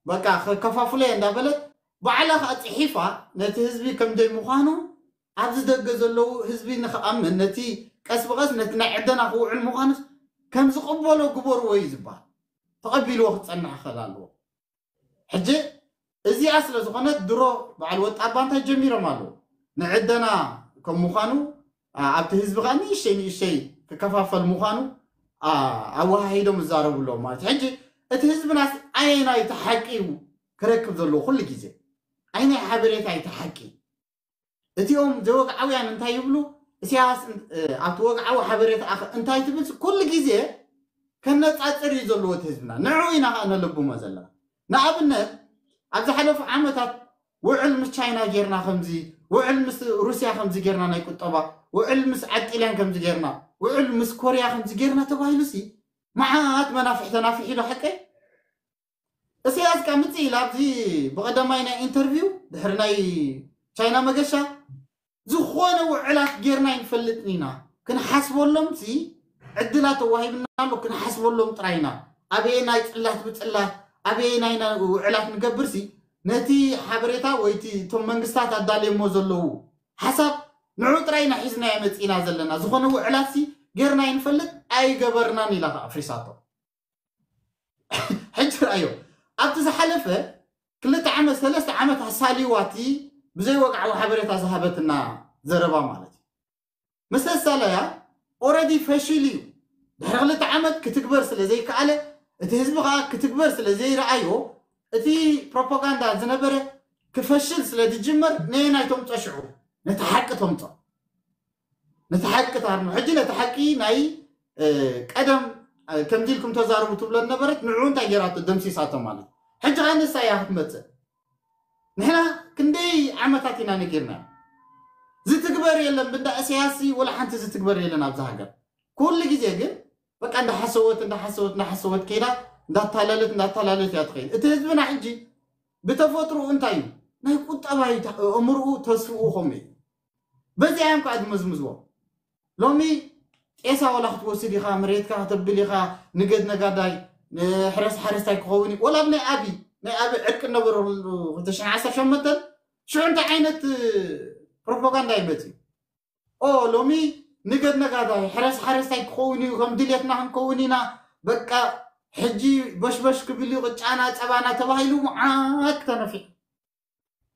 በቃ ከከፋፍሎ እየ እንዳበለት ባዕላ ከዓ ፅሒፋ ነቲ ህዝቢ ከም ዘይምዃኑ ኣብዚ ደገ ዘለዉ ህዝቢ ንክኣምን ነቲ ቀስ ብቐስ ነቲ ናይ ዕደና ክውዕል ምዃኑስ ከም ዝቕበሎ ግበርዎ እዩ ዝበሃል። ተቐቢልዎ ክፀንሕ ክኽእል ኣለዎ። ሕጂ እዚኣ ስለ ዝኾነት ድሮ በዓል ወጣ ኣባ እንታይ ጀሚሮም ኣለዉ ንዕደና ከም ምዃኑ ኣብቲ ህዝቢ ከዓ ንእሸይ ንእሸይ ክከፋፈል ምዃኑ ኣወሃሂዶም ይዛረቡ ኣለዉ ማለት እዩ። ሕጂ እቲ ህዝብናስ ኣየናይ እቲ ሓቂ እዩ ክረክብ ዘለዎ ኩሉ ግዜ ኣየናይ ሓበሬታ እዩ እቲ ሓቂ? እቲኦም ዘይወግዓውያን እንታይ ይብሉ? እስያስ ኣብቲ ወግዓዊ ሓበሬታ እንታይ ትብል ኩሉ ግዜ ከነፃፅር እዩ ዘለዎ እቲ ህዝብና። ንዕኡ ኢና ከዓ ነለብሞ ዘለና። ንኣብነት ኣብ ዝሓለፉ ዓመታት ውዕል ምስ ቻይና ጌርና ከምዚ፣ ውዕል ምስ ሩስያ ከምዚ ጌርና ናይ ቁጠባ፣ ውዕል ምስ ዓጢልያን ከምዚ ጌርና፣ ውዕል ምስ ኮርያ ከምዚ ጌርና ተባሂሉ ሲ መዓት መናፍሕ ተናፊሕ ኢሉ ሓቀይ እሰያስ ቃ ምጽእ ኢላ ኣብዚ ብቐዳማይ ናይ ኢንተርቪው ድሕሪ ናይ ቻይና መገሻ ዝኾነ ውዕላት ጌርና ይንፈልጥን ኢና ክንሓስበሎም ሲ ዕድላት ተዋሂብና ኣሎ ክንሓስበሎም ጥራይና ኣበየ ናይ ጽላት ብጽላት ኣበየናይ ውዕላት ንገብርሲ ነቲ ሓበሬታ ወይ እቲ እቶም መንግስታት ኣዳልየሞ ዘለዉ ሓሳብ ንዑ ጥራይ ኢና ሒዝናዮ መፂእና ዘለና። ዝኾነ ውዕላትሲ ጌርና ይንፈልጥ ኣይገበርናን ኢላ ከዓ ኣፍሪሳቶ። ሕጂ ርኣዮ፣ ኣብቲ ዝሓለፈ ክልተ ዓመት ሰለስተ ዓመት ኣሳልዩዋ እቲ ብዘይወግዓዊ ሓበሬታ ዝሃበትና ዘረባ ማለት እዩ። ምስ ኣሳለያ ኦረዲ ፈሽል እዩ። ድሕሪ ክልተ ዓመት ክትግበር ስለ ዘይከኣለ፣ እቲ ህዝቢ ከዓ ክትግበር ስለ ዘይረኣዮ፣ እቲ ፕሮፓጋንዳ ዝነበረ ክፈሽል ስለ ዝጅመር ነየናይ ተምፆ ሽዑ? ነቲ ሓቂ ተምፆ። ነቲ ሓቂ ታርኖ። ሕጂ ነቲ ሓቂ ናይ ቀደም ከምዚ ኢልኩም ተዛረቡ ትብሎ ነበረት፣ ንዑ እንታይ ገይራቶ? ደምሲሳቶ ማለት። ሕጂ ከዓ ንሳ እያ ክትመፅእ። ንሕና ክንደይ ዓመታት ኢና ነጊርና? ዝትግበር የለን። ብንዳ እሰያሲ ወላ ሓንቲ ዝትግበር የለን ኣብዚ ሃገር። ኩሉ ግዜ ግን በቃ እንዳሓሰወት እንዳሓሰወት እንዳሓሰወት ከይዳ እንዳታለለት እንዳታለለት እያ ትኸይድ። እቲ ህዝብና ሕጂ ብተፈጥሮ እንታይ እዩ? ናይ ቁጠባ እዩ። ኣእምርኡ ተስፍኡ ከምኡ እዩ። በዚኣ እዮም ከዓ ዝመዝምዝዎ። ሎሚ ጤሳ ዋላ ክትወስድ ኢኻ፣ መሬትካ ከተብል ኢኻ፣ ንገድ ነጋዳይ፣ ሕረስ ሓረስታይ ክኸውን እዩ። ወላ ኣብ ናይ ኣቢ ናይ ኣቢ ዕርቂ ነበረሉ ክልተ ሽሕን ዓሰርተ ሸሞንተን ሽዑ እንታይ ዓይነት ፕሮፓጋንዳ ይመፅእ? ኦ ሎሚ ንገድ ነጋዳይ ሕረስ ሓረስታይ ክኸውን እዩ፣ ከም ድሌትና ክንከውን ኢና፣ በቃ ሕጂ በሽበሽ ክብል እዩ ቅጫና ፀባና ተባሂሉ መዓት ተነፊሑ።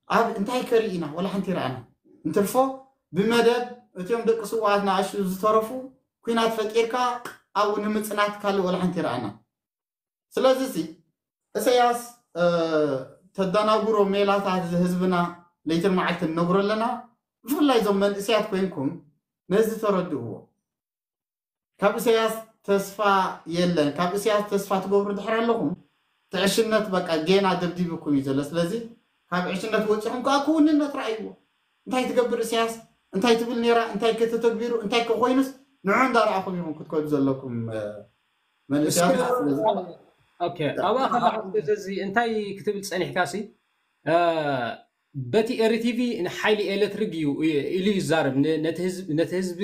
ኣብ እንታይ ከርኢ ኢና? ወላ ሓንቲ ይረኣና። እንትርፎ ብመደብ እቲኦም ደቂ ስዋኣት ንኣሽቱ ዝተረፉ ኩናት ፈጢርካ ኣብኡ ንምፅናት ካልእ ወላ ሓንቲ ይረኣና። ስለዚ ሲ እሰያስ ተዳናጉሮ ሜላታት ህዝብና ለይትን መዓልትን ነግሮ ኣለና። ብፍላይ እዞም መንእሰያት ኮይንኩም ነዚ ተረድእዎ። ካብ እሰያስ ተስፋ የለን። ካብ እሰያስ ተስፋ ትገብሩ ድሕር ኣለኹም ትዕሽነት በቃ ጌና ደብዲብኩም እዩ ዘሎ። ስለዚ ካብ ዕሽነት ወፂኹም ከዓ ክውንነት ረኣይዎ። እንታይ ትገብር እሰያስ? እንታይ ትብል ነይራ? እንታይ ከተተግቢሩ? እንታይ ከኮይኑስ ንዑ እንዳረኣኹም ኢኹም ክትከዱ ዘለኩም መንእሰያት። ኣብኣ ከለኹ እዚ እንታይ ክትብል ፀኒሕካ ሲ በቲ ኤሪቲቪ ንሓይሊ ኤሌክትሪክ እዩ ኢሉ ይዛረብ፣ ነቲ ህዝቢ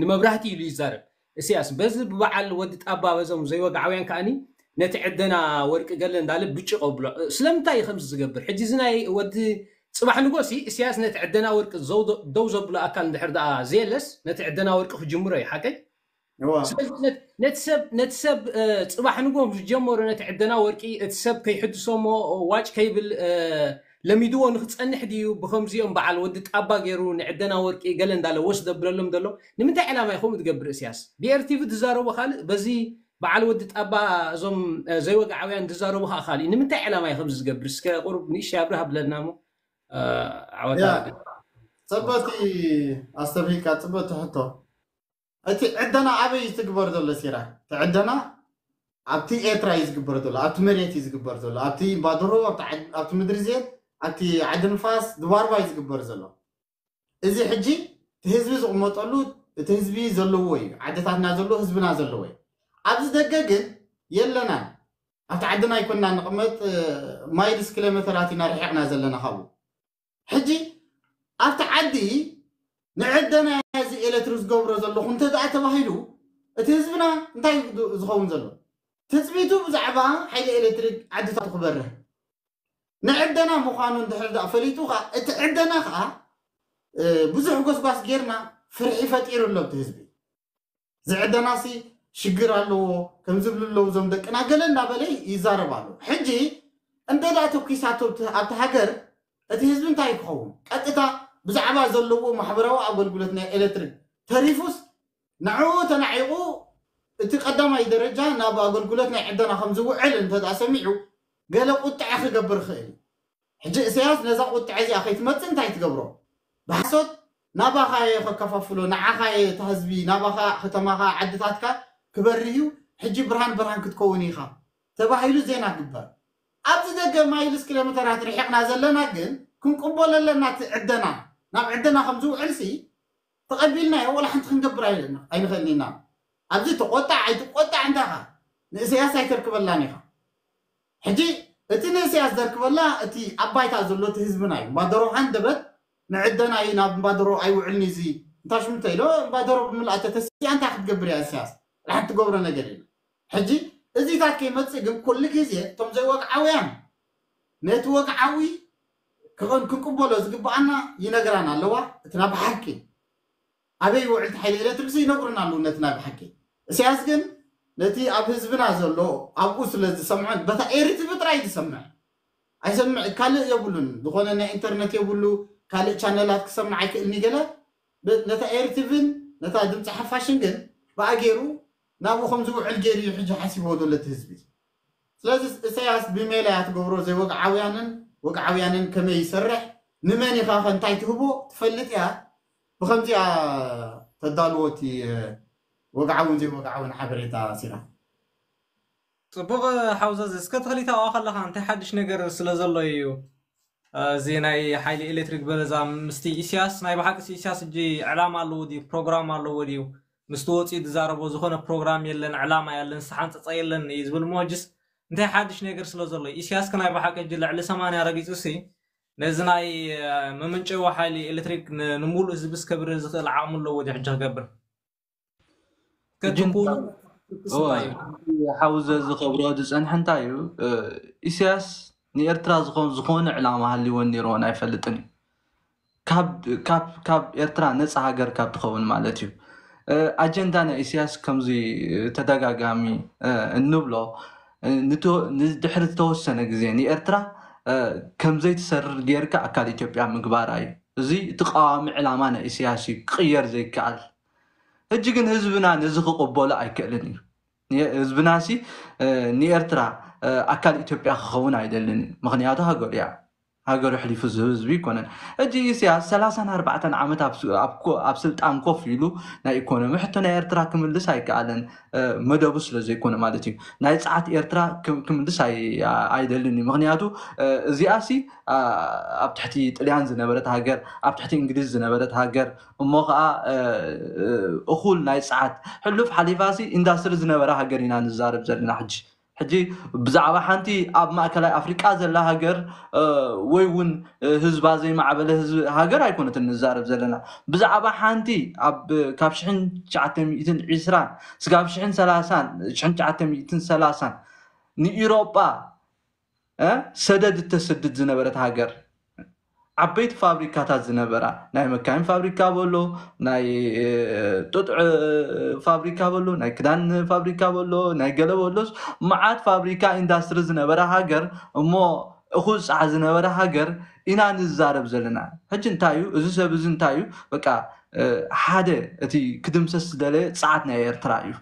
ንመብራህቲ ኢሉ ይዛረብ። እስያስ በዚ ብበዓል ወዲ ጣባ በዞም ዘይወግዓውያን ከኣኒ ነቲ ዕደና ወርቂ ገለ እንዳለ ብጭ ቀብሎ። ስለምንታይ እዩ ከምዚ ዝገብር? ሕጂ እዚ ናይ ወዲ ፅባሕ ንጎሲ እስያስ ነቲ ዕደና ወርቂ ደው ዘብሎ ኣካል እንድሕር ደኣ ዘየለስ ነቲ ዕደና ወርቂ ክጅምሮ እዩ ሓቀይ። ነቲ ሰብ ፅባሕ ንጎ ዝጀመሩ ነቲ ዕደና ወርቂ እቲ ሰብ ከይሕድሶሞ ዋጭ ከይብል ለሚድዎ ንክፀንሕ ድዩ? ብከምዚኦም በዓል ወዲ ጣባ ገይሩ ንዕደና ወርቂ ገለ እንዳለ ወስ ደብለሎም ዘሎ ንምንታይ ዕላማ እዩ ከምኡ ትገብር? እስያስ ብኤርቲቪ ዝዛረቡ ካልእ በዚ በዓል ወዲ ጣባ እዞም ዘይወግዓውያን ዝዛረቡ ከዓ ካልእ ንምንታይ ዕላማ እዩ ከምዚ ዝገብር? እስከ ቁሩብ ንእሽተይ ኣብርህ ኣብለና ሞ ዓወታ ፅበቲ ኣስተብሂልካ ፅበቲ ሕቶ እቲ ዕደና ኣበይ እዩ ዝትግበር ዘሎ ሲራ? እቲ ዕደና ኣብቲ ኤርትራ እዩ ዝግበር ዘሎ፣ ኣብቲ መሬት እዩ ዝግበር ዘሎ፣ ኣብቲ ባድሮ፣ ኣብቲ ምድሪ ዜን፣ ኣብቲ ዓዲ ንፋስ ድባርባ እዩ ዝግበር ዘሎ። እዚ ሕጂ እቲ ህዝቢ ዝቕመጠሉ እቲ ህዝቢ ዘለዎ እዩ፣ ዓድታትና ዘለዎ ህዝብና ዘለዎ እዩ። ኣብዚ ደገ ግን የለናን። ኣብቲ ዓድና ኣይኮንና ንቕመጥ፣ ማይልስ ኪሎሜተራት ኢና ርሒቕና ዘለና ካብኡ። ሕጂ ኣብቲ ዓዲ ንዕደና እዚ ኤሌክትሪክ ዝገብሮ ዘለኹ እንተ ደኣ ተባሂሉ እቲ ህዝብና እንታይ ዝኸውን ዘሎ? ትፅቢቱ ብዛዕባ ሓይሊ ኤሌክትሪክ ዓድታቱ ክበርህ ንዕደና ምዃኑ እንድሕር ደኣ ፈሊጡ ከዓ እቲ ዕደና ከዓ ብዙሕ ጎስጓስ ጌርና ፍርሒ ፈጢሩ ኣሎ እቲ ህዝቢ። ዝዕደናሲ ሽግር ኣለዎ ከም ዝብሉ ኣለዉ እዞም ደቅና ገለ እናበለ ይዛረብ ኣሎ። ሕጂ እንተ ደኣ ተኩሳቶ ኣብቲ ሃገር እቲ ህዝቢ እንታይ ክኸውን? ቀጥታ ብዛዕባ ዘለዎ ማሕበራዊ ኣገልግሎት ናይ ኤሌክትሪክ ተሪፉስ ንዕኡ ተናዒቑ እቲ ቀዳማይ ደረጃ ናብ ኣገልግሎት ናይ ዕደና ከም ዝውዕል እንተ ደኣ ሰሚዑ ገለ ቁጥዐ ክገብር ይኽእል እዩ። ሕጂ እሰያስ ነዛ ቁጥዐ እዚኣ ከይትመፅእ እንታይ ትገብሮ? ብሓሶት ናባኻ እየ ከከፋፍሎ፣ ንዓኻ እየ እታ ህዝቢ፣ ናባኻ ከተማኻ ዓድታትካ ክበርህ እዩ፣ ሕጂ ብርሃን ብርሃን ክትከውን ኢኻ ተባሂሉ ዜና ግበር። ኣብዚ ደገ ማይልስ ኪሎሜተራት ርሒቕና ዘለና ግን ክንቅበሎ ኣለና። እቲ ዕደና ናብ ዕደና ከም ዝውዕልሲ ተቐቢልናዮ ወላ ሓንቲ ክንገብር ኣይንኽእልን ኢና። ኣብዚ ተቆጣዕ ኣይትቆጣዕ እንታኻ ንእሰያስ ኣይተርክበላን ኢኻ። ሕጂ እቲ ንእሰያስ ዘርክበላ እቲ ኣብ ባይታ ዘሎ እቲ ህዝብና እዩ። ባደሮ ሃንደበት ንዕደና እዩ ናብ ባደሮ ኣይውዕልን እዚ እንታ ሽምንተ ኢሎ ባደሮ ብምልኣ ተተሲኣ እንታይ ክትገብር እያ እሰያስ? ሓንቲ ትገብሮ ነገር የለ። ሕጂ እዚታት ከይመፅእ ግን ኩሉ ግዜ እቶም ዘይወግዓውያን ነቲ ወግዓዊ ክቕን ክንቅበሎ ዝግብኣና ይነግራና ኣለዋ። እቲ ናብ ሓቂ ኣበይ ይውዕል እቲ ሓይሊ ኤሌክትሪክ ይነግሩና ኣለዉ። ነቲ ናይ ብሓቂ ኢሳያስ ግን ነቲ ኣብ ህዝብና ዘሎ ኣብኡ ስለ ዝሰምዖ በታ ኤሪቲቪ ጥራይ ዝሰምዕ ኣይሰምዕ ካልእ የብሉን። ዝኾነ ናይ ኢንተርነት የብሉ፣ ካልእ ቻነላት ክሰምዕ ኣይክእልን እዩ። ገለ ብ- ነታ ኤሪቲቪን ነታ ድምፂ ሓፋሽን ግን ብኣ ገይሩ ናብኡ ከም ዝውዕል ገይሩ እዩ ሕጂ ሓሲብዎ ዘሎ እቲ ህዝቢ። ስለዚ ኢሳያስ ብሜላ እያ ትገብሮ። ዘይወግዓውያንን ወግዓውያንን ከመይ ይሰርሕ፣ ንመን ኢኻ ከ እንታይ ትህቦ ትፈልጥ እያ። ብኸምዚኣ ተዳልዎ እቲ ወግዓውን ዘይወግዓውን ሓበሬታ ሲራ። ፅቡቕ ሓውዘዝ፣ እስከ ተኽሊት ኣብኣ ከለኻ እንታይ ሓድሽ ነገር ስለ ዘሎ እዩ እዚ ናይ ሓይሊ ኤሌክትሪክ በለዛ? ምስቲ ኢሳያስ ናይ ብሓቂ ኢሳያስ እጂ ዕላማ ኣለዎ ድዩ ፕሮግራም ኣለዎ ድዩ? ምስቲ ወፂኡ ዝዛረቦ ዝኾነ ፕሮግራም የለን፣ ዕላማ የለን፣ ዝተሓንፀፀ የለን እዩ ዝብል እሞ ሕጅስ እንታይ ሓድሽ ነገር ስለ ዘሎ? ኢሳያስ ከ ናይ ብሓቂ እጂ ልዕሊ ሰማንያ ረጊፁ ሲ ነዚ ናይ መመንጨዊ ሓይሊ ኤሌክትሪክ ን- ንሙሉእ ህዝቢ ስከብር ዝኽእል ዓቕሚ ኣለዎ ድዩ ሕጂ ክገብር? እጅን ከትኩኑ እወ፣ ሓውዘ ዝኸብሮ ዝፀንሐ እንታይ እዩ? ኢሳያስ ንኤርትራ ዝኾን ዝኾነ ዕላማ ሃልይወን ነይርዎን ኣይፈልጥን እዩ። ካብ ካብ ካብ ኤርትራ ነፃ ሃገር ካብ ትኸውን ማለት እዩ። ኣጀንዳ ናይ ኢሳያስ ከምዚ ተደጋጋሚ እንብሎ ንድሕሪ ዝተወሰነ ግዜ ንኤርትራ ከምዘይትሰርር ጌርካ ኣካል ኢትዮጵያ ምግባራ እዩ። እዚ እቲ ቀዋሚ ዕላማ ናይ ኢሳያስ እዩ፣ ክቕየር ዘይከኣል። ሕጂ ግን ህዝብና ነዚ ክቕበሎ ኣይክእልን እዩ። ህዝብና ሲ ንኤርትራ ኣካል ኢትዮጵያ ክኸውን ኣይደልን እዩ። ምኽንያቱ ሃገሩ እያ፣ ሃገሩ ሕሊፉ ዝህብ ህዝቢ ኣይኮነን። ሕጂ ኢሳያስ ሰላሳን ኣርባዕተን ዓመት ኣብ ስ- ኣብ ኮ- ኣብ ስልጣን ኮፍ ኢሉ ናይ ኢኮኖሚ ሕቶ ናይ ኤርትራ ክምልስ ኣይከኣለን፣ መደቡ ስለ ዘይኮነ ማለት እዩ። ናይ ጸዓት ኤርትራ ክም- ክምልስ ኣይ- ኣይደልን እዩ። ምኽንያቱ እዚኣ ሲ ኣብ ትሕቲ ጥልያን ዝነበረት ሃገር፣ ኣብ ትሕቲ እንግሊዝ ዝነበረት ሃገር፣ እሞ ከዓ እኹል ናይ ጸዓት ሕሉፍ ሓሊፋሲ ኢንዳስትሪ ዝነበረ ሃገር ኢና ንዛረብ ዘለና። ሕጂ ሕጂ ብዛዕባ ሓንቲ ኣብ ማእከላይ ኣፍሪቃ ዘላ ሃገር ወይ እውን ህዝባ ዘይማዕበለ ህዝቢ ሃገር ኣይኮነትን ንዛረብ ዘለና። ብዛዕባ ሓንቲ ኣብ ካብ ሽሕን ትሽዓተ ሚእትን ዕስራን ስጋብ ሽሕን ሰላሳን ሽሕን ትሽዓተ ሚእትን ሰላሳን ንኢሮጳ ሰደድ እተስድድ ዝነበረት ሃገር፣ ዓበይቲ ፋብሪካታት ዝነበራ፣ ናይ መካይን ፋብሪካ በሎ፣ ናይ ጡጥ ፋብሪካ በሎ፣ ናይ ክዳን ፋብሪካ በሎ፣ ናይ ገለ በሎስ፣ መዓት ፋብሪካ ኢንዳስትሪ ዝነበራ ሃገር፣ እሞ እኹል ፃዕ ዝነበረ ሃገር ኢና ንዛረብ ዘለና። ሕጂ እንታይ እዩ እዚ ሰብ እዚ እንታይ እዩ? በቃ ሓደ እቲ ክድምሰስ ዝደለየ ፃዓት ናይ ኤርትራ እዩ።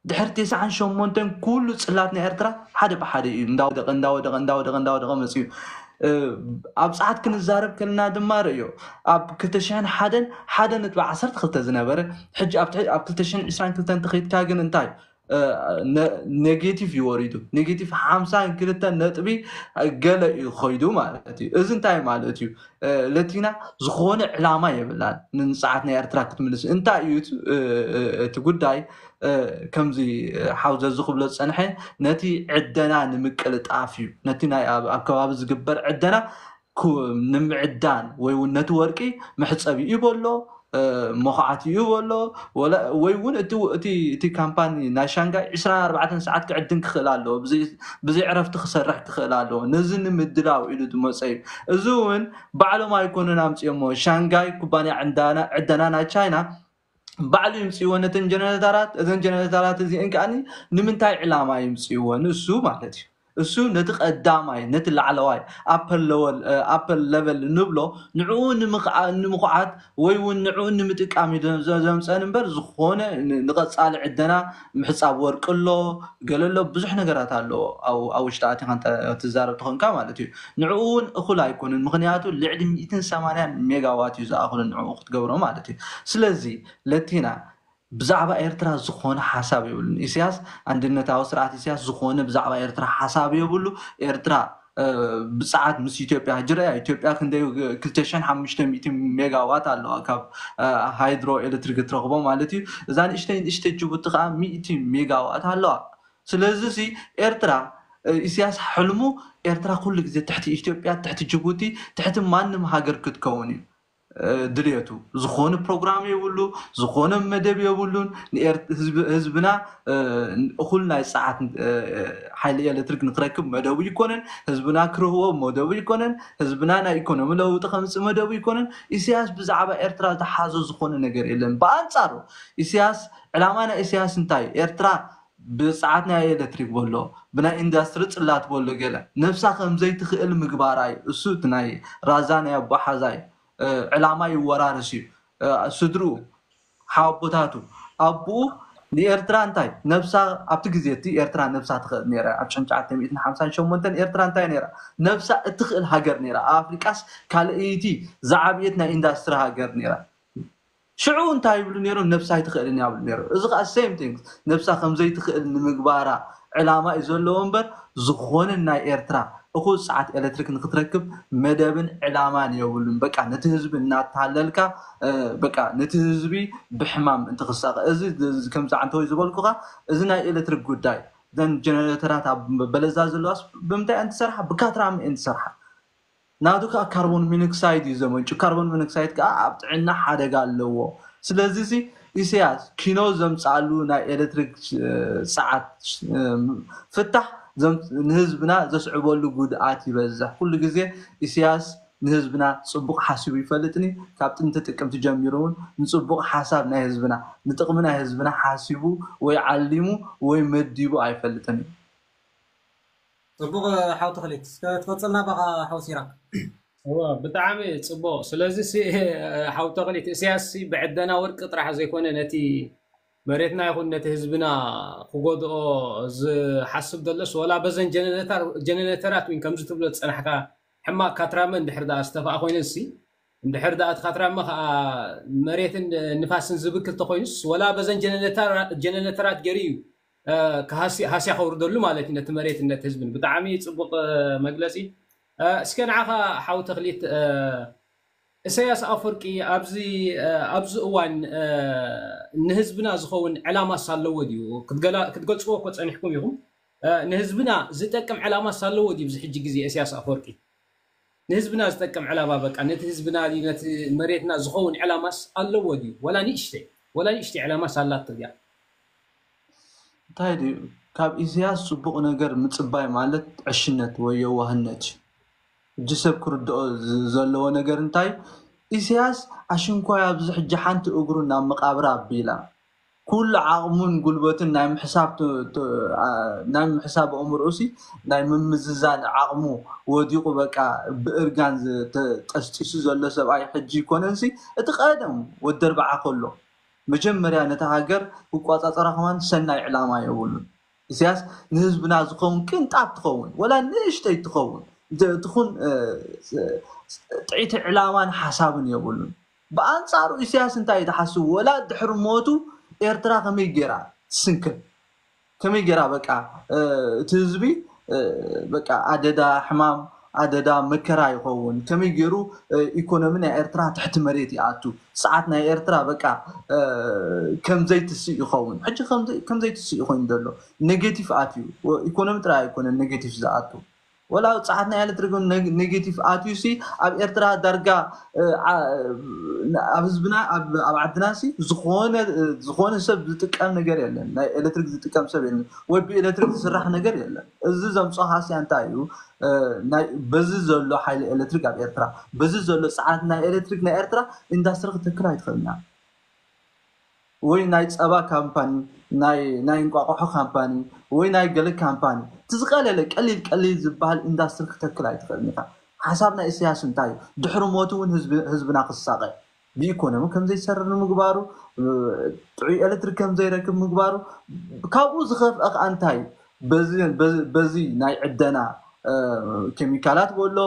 ድሕሪ ተስዓን ሸሞንተን ኩሉ ፅላት ናይ ኤርትራ ሓደ ብሓደ እዩ እንዳወደቐ እንዳወደቐ እንዳወደቐ እንዳወደቐ መፅዩ። ኣብ ፃዓት ክንዛረብ ከለና ድማ ርእዮ፣ ኣብ ክልተ ሽሕን ሓደን ሓደ ነጥቢ ዓሰርተ ክልተ ዝነበረ፣ ሕጂ ኣብ ትሕቲ- ኣብ ክልተ ሽሕን ዕስራን ክልተን ተኸይድካ ግን እንታይ ኔጌቲቭ እዩ ወሪዱ። ኔጌቲቭ ሓምሳን ክልተን ነጥቢ ገለ እዩ ኸይዱ ማለት እዩ። እዚ እንታይ ማለት እዩ? ለቲና ዝኾነ ዕላማ የብላን ንንፅዓት ናይ ኤርትራ ክትምልስ። እንታይ እዩ እቲ- እቲ ጉዳይ? ከምዚ ሓው ዘዚ ክብሎ ዝፀንሐ፣ ነቲ ዕደና ንምቅልጣፍ እዩ። ነቲ ናይ ኣብ ኣብ ከባቢ ዝግበር ዕደና ንምዕዳን ወይ እውን ነቲ ወርቂ መሕፀቢ እዩ በሎ፣ መኹዓት እዩ በሎ። ወይ እውን እቲ እቲ ካምፓኒ ናይ ሻንጋይ ዕስራን ኣርባዕተን ሰዓት ክዕድን ክኽእል ኣለዎ፣ ብዘይ ዕረፍቲ ክሰርሕ ክኽእል ኣለዎ። ነዚ ንምድላው ኢሉ ዝመፀ እዩ። እዚ እውን ባዕሎም ኣይኮኑን ኣምፅኦሞ። ሻንጋይ ኩባንያ ዕደና ናይ ቻይና ባዕሉ ይምፅእዎ ነተን ጀነሬተራት። እዘን ጀነሬተራት እዚአን ከዓ ንምንታይ ዕላማ ይምፅእዎ? ንሱ ማለት እዩ። እሱ ነቲ ቀዳማይ ነቲ ላዕለዋይ ኣፐር ለወል ኣፐር ለቨል ንብሎ ንዕኡ ንምኹዓት ወይ እውን ንዕኡ ንምጥቃም እዩ ዘምፀን እምበር ዝኾነ ንቐፃሊ ዕደና ምሕፃብ ወርቂ ኣሎ ገለ ኣሎ ብዙሕ ነገራት ኣለዎ። ኣብ ውሽጢ ኣቲኻ ትዛረብ ተኾንካ ማለት እዩ። ንዕኡ እውን እኹል ኣይኮንን፣ ምኽንያቱ ልዕሊ ሚእትን ሰማንያን ሜጋዋት እዩ ዝኣኽሉ ንዕኡ ክትገብሮ ማለት እዩ። ስለዚ ለቲና ብዛዕባ ኤርትራ ዝኾነ ሓሳብ የብሉን። ኢሳያስ ኣንድነታዊ ስርዓት ኢሳያስ ዝኾነ ብዛዕባ ኤርትራ ሓሳብ የብሉ። ኤርትራ ብፀዓት ምስ ኢትዮጵያ ሕጂ ርኣያ። ኢትዮጵያ ክንደይ ክልተ ሽሕን ሓሙሽተ ሚእትን ሜጋዋት ኣለዋ ካብ ሃይድሮ ኤሌክትሪክ እትረኽቦ ማለት እዩ። እዛ ንእሽተይ ንእሽተይ ጅቡቲ ከዓ ሚእቲ ሜጋዋት ኣለዋ። ስለዚ ሲ ኤርትራ ኢሳያስ ሕልሙ ኤርትራ ኩሉ ግዜ ትሕቲ ኢትዮጵያ ትሕቲ ጅቡቲ ትሕቲ ማንም ሃገር ክትከውን እዩ። ድልየቱ። ዝኾነ ፕሮግራም የብሉ፣ ዝኾነ መደብ የብሉን። ንኤር- ህዝብ- ህዝብና እኹል ናይ ፀዓት ሓይሊ ኤሌክትሪክ ንክረክብ መደቡ ይኮነን። ህዝብና ክርህዎ መደቡ ይኮነን። ህዝብና ናይ ኢኮኖሚ ለውጢ ከምፅእ መደቡ ይኮነን። ኢሳያስ ብዛዕባ ኤርትራ ዝሓዞ ዝኾነ ነገር የለን። ብኣንፃሩ ኢሳያስ፣ ዕላማ ናይ ኢሳያስ እንታይ? ኤርትራ ብፀዓት ናይ ኤሌክትሪክ በሎ፣ ብናይ ኢንዳስትሪ ፅላት በሎ፣ ገለ ነብሳ ከምዘይትኽእል ምግባራ እዩ። እሱ እቲ ናይ ራዛ ናይ ኣቦሓዛይ ዕላማ ይወራርስ እዩ። ስድርኡ፣ ሓወቦታቱ፣ ኣቦኡ ንኤርትራ እንታይ ነብሳ፣ ኣብቲ ግዜ እቲ ኤርትራ ነብሳ ትኽእል ነይራ። ኣብ ሽሕን ትሽዓተ ሚእትን ሓምሳን ሸሞንተን ኤርትራ እንታይ ነይራ? ነብሳ እትኽእል ሃገር ነይራ። ኣብ ኣፍሪቃስ ካልኣይቲ ዝዓብየት ናይ ኢንዳስትሪ ሃገር ነይራ። ሽዑ እንታይ ይብሉ ነይሮም? ነብሳ ኣይትኽእልን እያ ይብሉ ነይሮም። እዚ ከዓ same thing፣ ነብሳ ከምዘይትኽእል ንምግባራ ዕላማ እዩ ዘለዎ እምበር፣ ዝኾነ ናይ ኤርትራ እኹል ሰዓት ኤሌክትሪክ ንክትረክብ መደብን ዕላማን የብሉን። በቃ ነቲ ህዝቢ እናተሃለልካ፣ በቃ ነቲ ህዝቢ ብሕማም እንትክሳቀ፣ እዚ ከምዚ ዓንተወይ ዝበልኩካ፣ እዚ ናይ ኤሌክትሪክ ጉዳይ፣ ዘን ጀነሬተራት ኣብ በለዛ ዘለዋስ ብምንታይ እየን ትሰርሓ? ብካትራመ እየን ትሰርሓ። ናቱ ከዓ ካርቦን ሚኖክሳይድ እዩ ዘመንጩ። ካርቦን ሚኖክሳይድ ከዓ ኣብ ጥዕና ሓደጋ ኣለዎ። ስለዚ እዚ ኢሳያስ ኪኖ ዘምፃሉ ናይ ኤሌክትሪክ ሰዓት ፍታሕ ንህዝብና ዘስዕበሉ ጉድኣት ይበዝሕ። ኩሉ ግዜ ኢሳያስ ንህዝብና ፅቡቅ ሓሲቡ ይፈልጥኒ። ካብ ጥንቲ ጥቅምቲ ጀሚሩ እውን ንፅቡቅ ሓሳብ ናይ ህዝብና፣ ንጥቅሚ ናይ ህዝብና ሓሲቡ ወይ ዓሊሙ ወይ መዲቡ ኣይፈልጥን እዩ። ፅቡቅ ሓው ተኽሊት፣ እስከ ትቐፅልና ባኻ ሓው ሲራክ። ብጣዕሚ ፅቡቅ። ስለዚ ሓው ተኽሊት፣ እስያስ ብዕደና ወርቂ ጥራሕ ዘይኮነ ነቲ መሬትና ይኹን ነቲ ህዝብና ክጎድኦ ዝሓስብ ዘሎስ፣ ወላ በዘን ጀነሬተራት ወይ ከምዚ ትብሎ ዝፀናሕካ ሕማቅ ካትራመ እንድሕር ደኣ ዝተፋኣ ኮይነን ሲ እንድሕር ደኣ እቲ ካትራመ ከዓ መሬትን ንፋስን ዝብክል ተኮይኑስ፣ ወላ በዘን ጀነሬተራት ገይሩ እዩ ሃስያ ከውርደሉ ማለት እዩ ነቲ መሬትን ነቲ ህዝብን። ብጣዕሚ ፅቡቅ መግለፂ። እስከ ንዓኻ ሓው ተኽሊት፣ እሰያስ ኣፈወርቂ ኣብዚ እዋን ንህዝብና ዝኸውን ዕላማስ ኣለዎ ድዩ? ክትገልፅዎ እኮ ፀኒሕኩም ኢኹም። ንህዝብና ዝጠቅም ዕላማስ ኣለዎ ድዩ? ኣብዚ ሕጂ ግዜ እሰያስ ኣፈወርቂ ንህዝብና ዝጠቅም ዕላማ፣ በቃ ነቲ ህዝብና ድዩ ነቲ መሬትና ዝኸውን ዕላማስ ኣለዎ ድዩ? ወላ ንእሽተይ፣ ወላ ንእሽተይ ዕላማስ ኣላቶ ድያ? እንታይ ድዩ? ካብ ኢሳያስ ፅቡቕ ነገር ምፅባይ ማለት ዕሽነት ወይ የዋህነት እዩ። ሕጂ ሰብ ክርድኦ ዘለዎ ነገር እንታይ? ኢሳያስ ኣሽንኳይ ኣብዚ ሕጂ ሓንቲ እግሩ ናብ መቓብር ኣቢላ፣ ኩሉ ዓቕሙን ጉልበትን ናይ ምሕሳብ ናይ ምሕሳብ ኣእምሮኡሲ ናይ ምምዝዛን ዓቕሙ ወዲቑ፣ በቃ ብእርጋን ጠስጢሱ ዘሎ ሰብኣይ ሕጂ ይኮነንሲ፣ እቲ ቀደም ወዲ ኣርብዓ ከሎ መጀመርያ ነታ ሃገር ክቋፃፀራ ከማን ሰናይ ዕላማ የብሉን። ኢሳያስ ንህዝብና ዝኸውን ቅንጣብ ትኸውን ወላ ንእሽተይ ትኸውን ትኹን ጥዒቲ ዕላማን ሓሳብን የብሉን። ብኣንፃሩ ኢሳያስ እንታይ እዩ ዝሓስብ? ወላ ድሕሪ ሞቱ ኤርትራ ከመይ ገይራ ትስንክል፣ ከመይ ገይራ በቃ እቲ ህዝቢ በቃ ኣደዳ ሕማም ኣደዳ መከራ ይኸውን፣ ከመይ ገይሩ ኢኮኖሚ ናይ ኤርትራ ትሕቲ መሬት ይኣቱ፣ ሰዓት ናይ ኤርትራ በቃ ከምዘይትስእ ይኸውን። ሕጂ ከምዘይትስእ ኮይኑ ዘሎ ኔጌቲቭ ኣትዩ፣ ኢኮኖሚ ጥራይ ኣይኮነን ኔጌቲቭ ዝኣቱ። ወላ ኣብ ጸዓት ናይ ኤሌክትሪክ እውን ኔጌቲቭ ኣትዩ ሲ ኣብ ኤርትራ ዳርጋ ኣብ ህዝብና ኣብ ዓድና ሲ ዝኾነ ሰብ ዝጥቀም ነገር የለን። ናይ ኤሌክትሪክ ዝጥቀም ሰብ የለን ወይ ብኤሌክትሪክ ዝስራሕ ነገር የለን። እዚ ዘምጾ ሃስያ እንታይ እዩ? በዚ ዘሎ ሓይሊ ኤሌክትሪክ ኣብ ኤርትራ፣ በዚ ዘሎ ጸዓት ናይ ኤሌክትሪክ ናይ ኤርትራ ኢንዳስትሪ ክትተክል ኣይትኽእልና። ወይ ናይ ጸባ ካምፓኒ፣ ናይ እንቋቑሖ ካምፓኒ ወይ ናይ ገለ ካምፓኒ፣ እቲ ዝቐለለ ቀሊል ቀሊል ዝበሃል ኢንዳስትሪ ክተክል ኣይትኽእልን ኢኻ። ሓሳብ ናይ ኢሳያስ እንታይ እዩ? ድሕሪ ሞቱ እውን ህዝብና ክሳቐ፣ ብኢኮኖሚ ከምዘይሰርር ንምግባሩ፣ ጥዑይ ኤሌክትሪክ ከምዘይረክብ ምግባሩ፣ ካብኡ ዝኸፍአ ከዓ እንታይ እዩ? በዚ ናይ ዕደና ኬሚካላት በሎ፣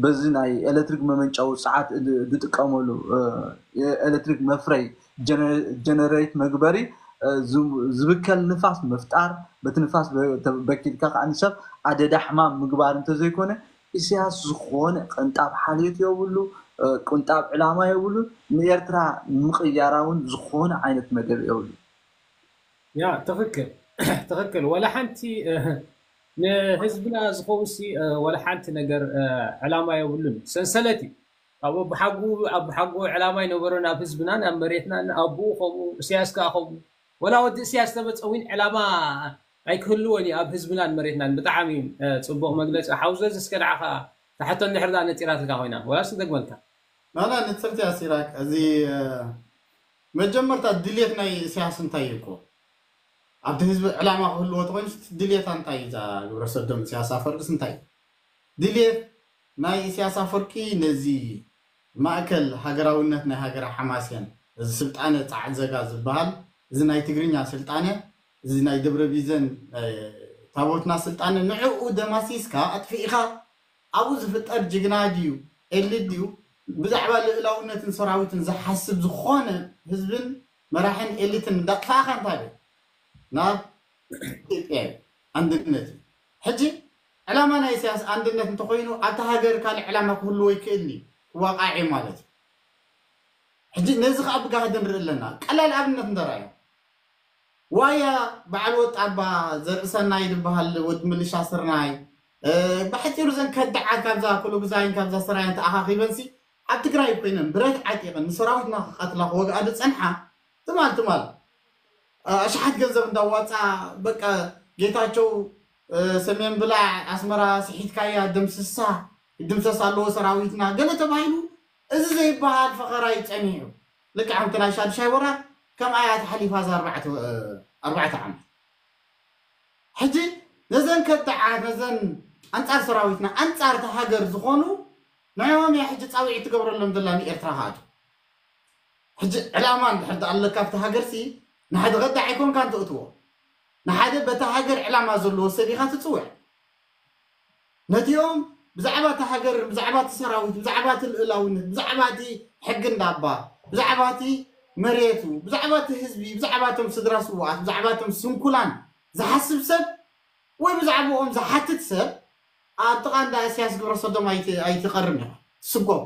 በዚ ናይ ኤሌክትሪክ መመንጨዊ ሰዓት ዝጥቀመሉ ኤሌክትሪክ መፍረይ ጀነሬት መግበሪ ዝብከል ንፋስ ምፍጣር፣ በቲ ንፋስ በኪልካ ከዓ ንሰብ ኣደዳ ሕማም ምግባር እንተዘይኮነ፣ ኢሳያስ ዝኾነ ቅንጣብ ሓልዮት የብሉ፣ ቅንጣብ ዕላማ የብሉ፣ ንኤርትራ ንምቕያራ እውን ዝኾነ ዓይነት መደብ የብሉ። ያ ትኽክል ትኽክል። ወላ ሓንቲ ንህዝብና ዝኸውን ሲ ወላ ሓንቲ ነገር ዕላማ የብሉን። ሰንሰለት እዩ። ኣብ ኣቦሓጎ ኣቦሓጎ ዕላማ ኣይነበሮን ኣብ ህዝብናን ኣብ መሬትናን። ኣቦኡ ከምኡ፣ እስያስ ከኣ ከምኡ። ወላ ወዲ እስያስ ተመጸ እውን ዕላማ ኣይክህልዎን እዩ ኣብ ህዝብናን መሬትናን። ብጣዕሚ እዩ ጽቡቕ መግለጺ ሓውዘዝ። እስከ ንዓኻ ትሓቶ እንድሕር ደኣ ነጺራትልካ ኮይና ወላስ ንደግመልካ? ናና ንጽርቲ ኣሲራክ እዚ መጀመርታ ድልየት ናይ እስያስ እንታይ እዩ እኮ ኣብቲ ህዝቢ ዕላማ ክህልዎ ተኮይኑ ድልየታ እንታይ እዩ እዛ ግብረ ሰዶም እስያስ ኣፈርቅስ እንታይ እዩ ድልየት ናይ እስያስ ኣፈርቂ ነዚ ማእከል ሃገራውነት ናይ ሃገረ ሓማሴን እዚ ስልጣነ ጻዕዘጋ ዝበሃል እዚ ናይ ትግርኛ ስልጣነ እዚ ናይ ደብረ ቢዘን ታቦትና ስልጣነ ንዕኡ ደማሲስካ ኣጥፊእኻ ኣብኡ ዝፍጠር ጅግና ድዩ ኤሊት ድዩ ብዛዕባ ልእላውነትን ሰራዊትን ዝሓስብ ዝኾነ ህዝብን መራሕን ኤሊትን እንዳጥፋእኻ እንታይ ናብ ኢትዮጵያ እዩ ኣንድነት እዩ ሕጂ ዕላማ ናይ ኢሳያስ ኣንድነት እንተኮይኑ ኣብታ ሃገር ካልእ ዕላማ ክህልዎ ይክእል እዩ ክዋቃዕ እዩ ማለት እዩ ሕጂ ነዚ ከዓ ብጋህዲ ንርኢ ኣለና ቀላል ኣብነት እንተረኣዩ ዋያ በዓል ወጣባ ዘርእሰናይ ዝበሃል ወዲ ምልሻ ስርናይ ብሕፂሩ ዘን ከዳዓት ካብዛ ኩሉ ግዛይን ካብዛ ስራይን ተኣኻኺበንሲ ኣብ ትግራይ ኮይነን ብረት ዓጢቕን ንሰራዊትና ክቐትላ ክወግኣ ዝፀንሓ ትማል ትማል ኣሽሓት ገንዘብ እንዳዋፃ በቃ ጌታቸው ሰሜን ብላዕ ኣስመራ ስሒትካያ ደምስሳ ይድምሰስ ኣለዎ ሰራዊትና ገለ ተባሂሉ እዚ ዘይበሃል ፈኸራ እዩ ፀኒሑ ልክዕ ከምቲ ናይ ሻዱሻይ ወራር ከምኣ እያ ተሓሊፋ እዛ ኣርባዕተ ዓመት ሕጂ ነዘን ከዳዓት ነዘን ኣንፃር ሰራዊትና ኣንፃር እታ ሃገር ዝኾኑ ንዕኦም እያ ሕጂ ፃውዒት ትገብረሎም ዘላ ንኤርትራ ክኣቱ ሕጂ ዕላማ እንድሕር ኣለካ ኣብቲ ሃገርሲ ንሓደ ከዳዕ ኣይኮንካን ተእትዎ ንሓደ በታ ሃገር ዕላማ ዘለዎ ሰብ ኢኻ ትፅውዕ ነቲኦም ብዛዕባ እቲ ሃገር ብዛዕባ እቲ ሰራዊት ብዛዕባ እቲ ልእላውነት ብዛዕባ እቲ ሕጊ እንዳባ ብዛዕባ እቲ መሬቱ ብዛዕባ እቲ ህዝቢ ብዛዕባ እቶም ስድራ ስውኣት ብዛዕባ እቶም ስንኩላን ዝሓስብ ሰብ ወይ ብዛዕባኦም ዝሓትት ሰብ ኣብ ጥቓ እንዳ እስያስ ግብረ ሰዶም ኣይትቐርም ኢኻ ትስጎም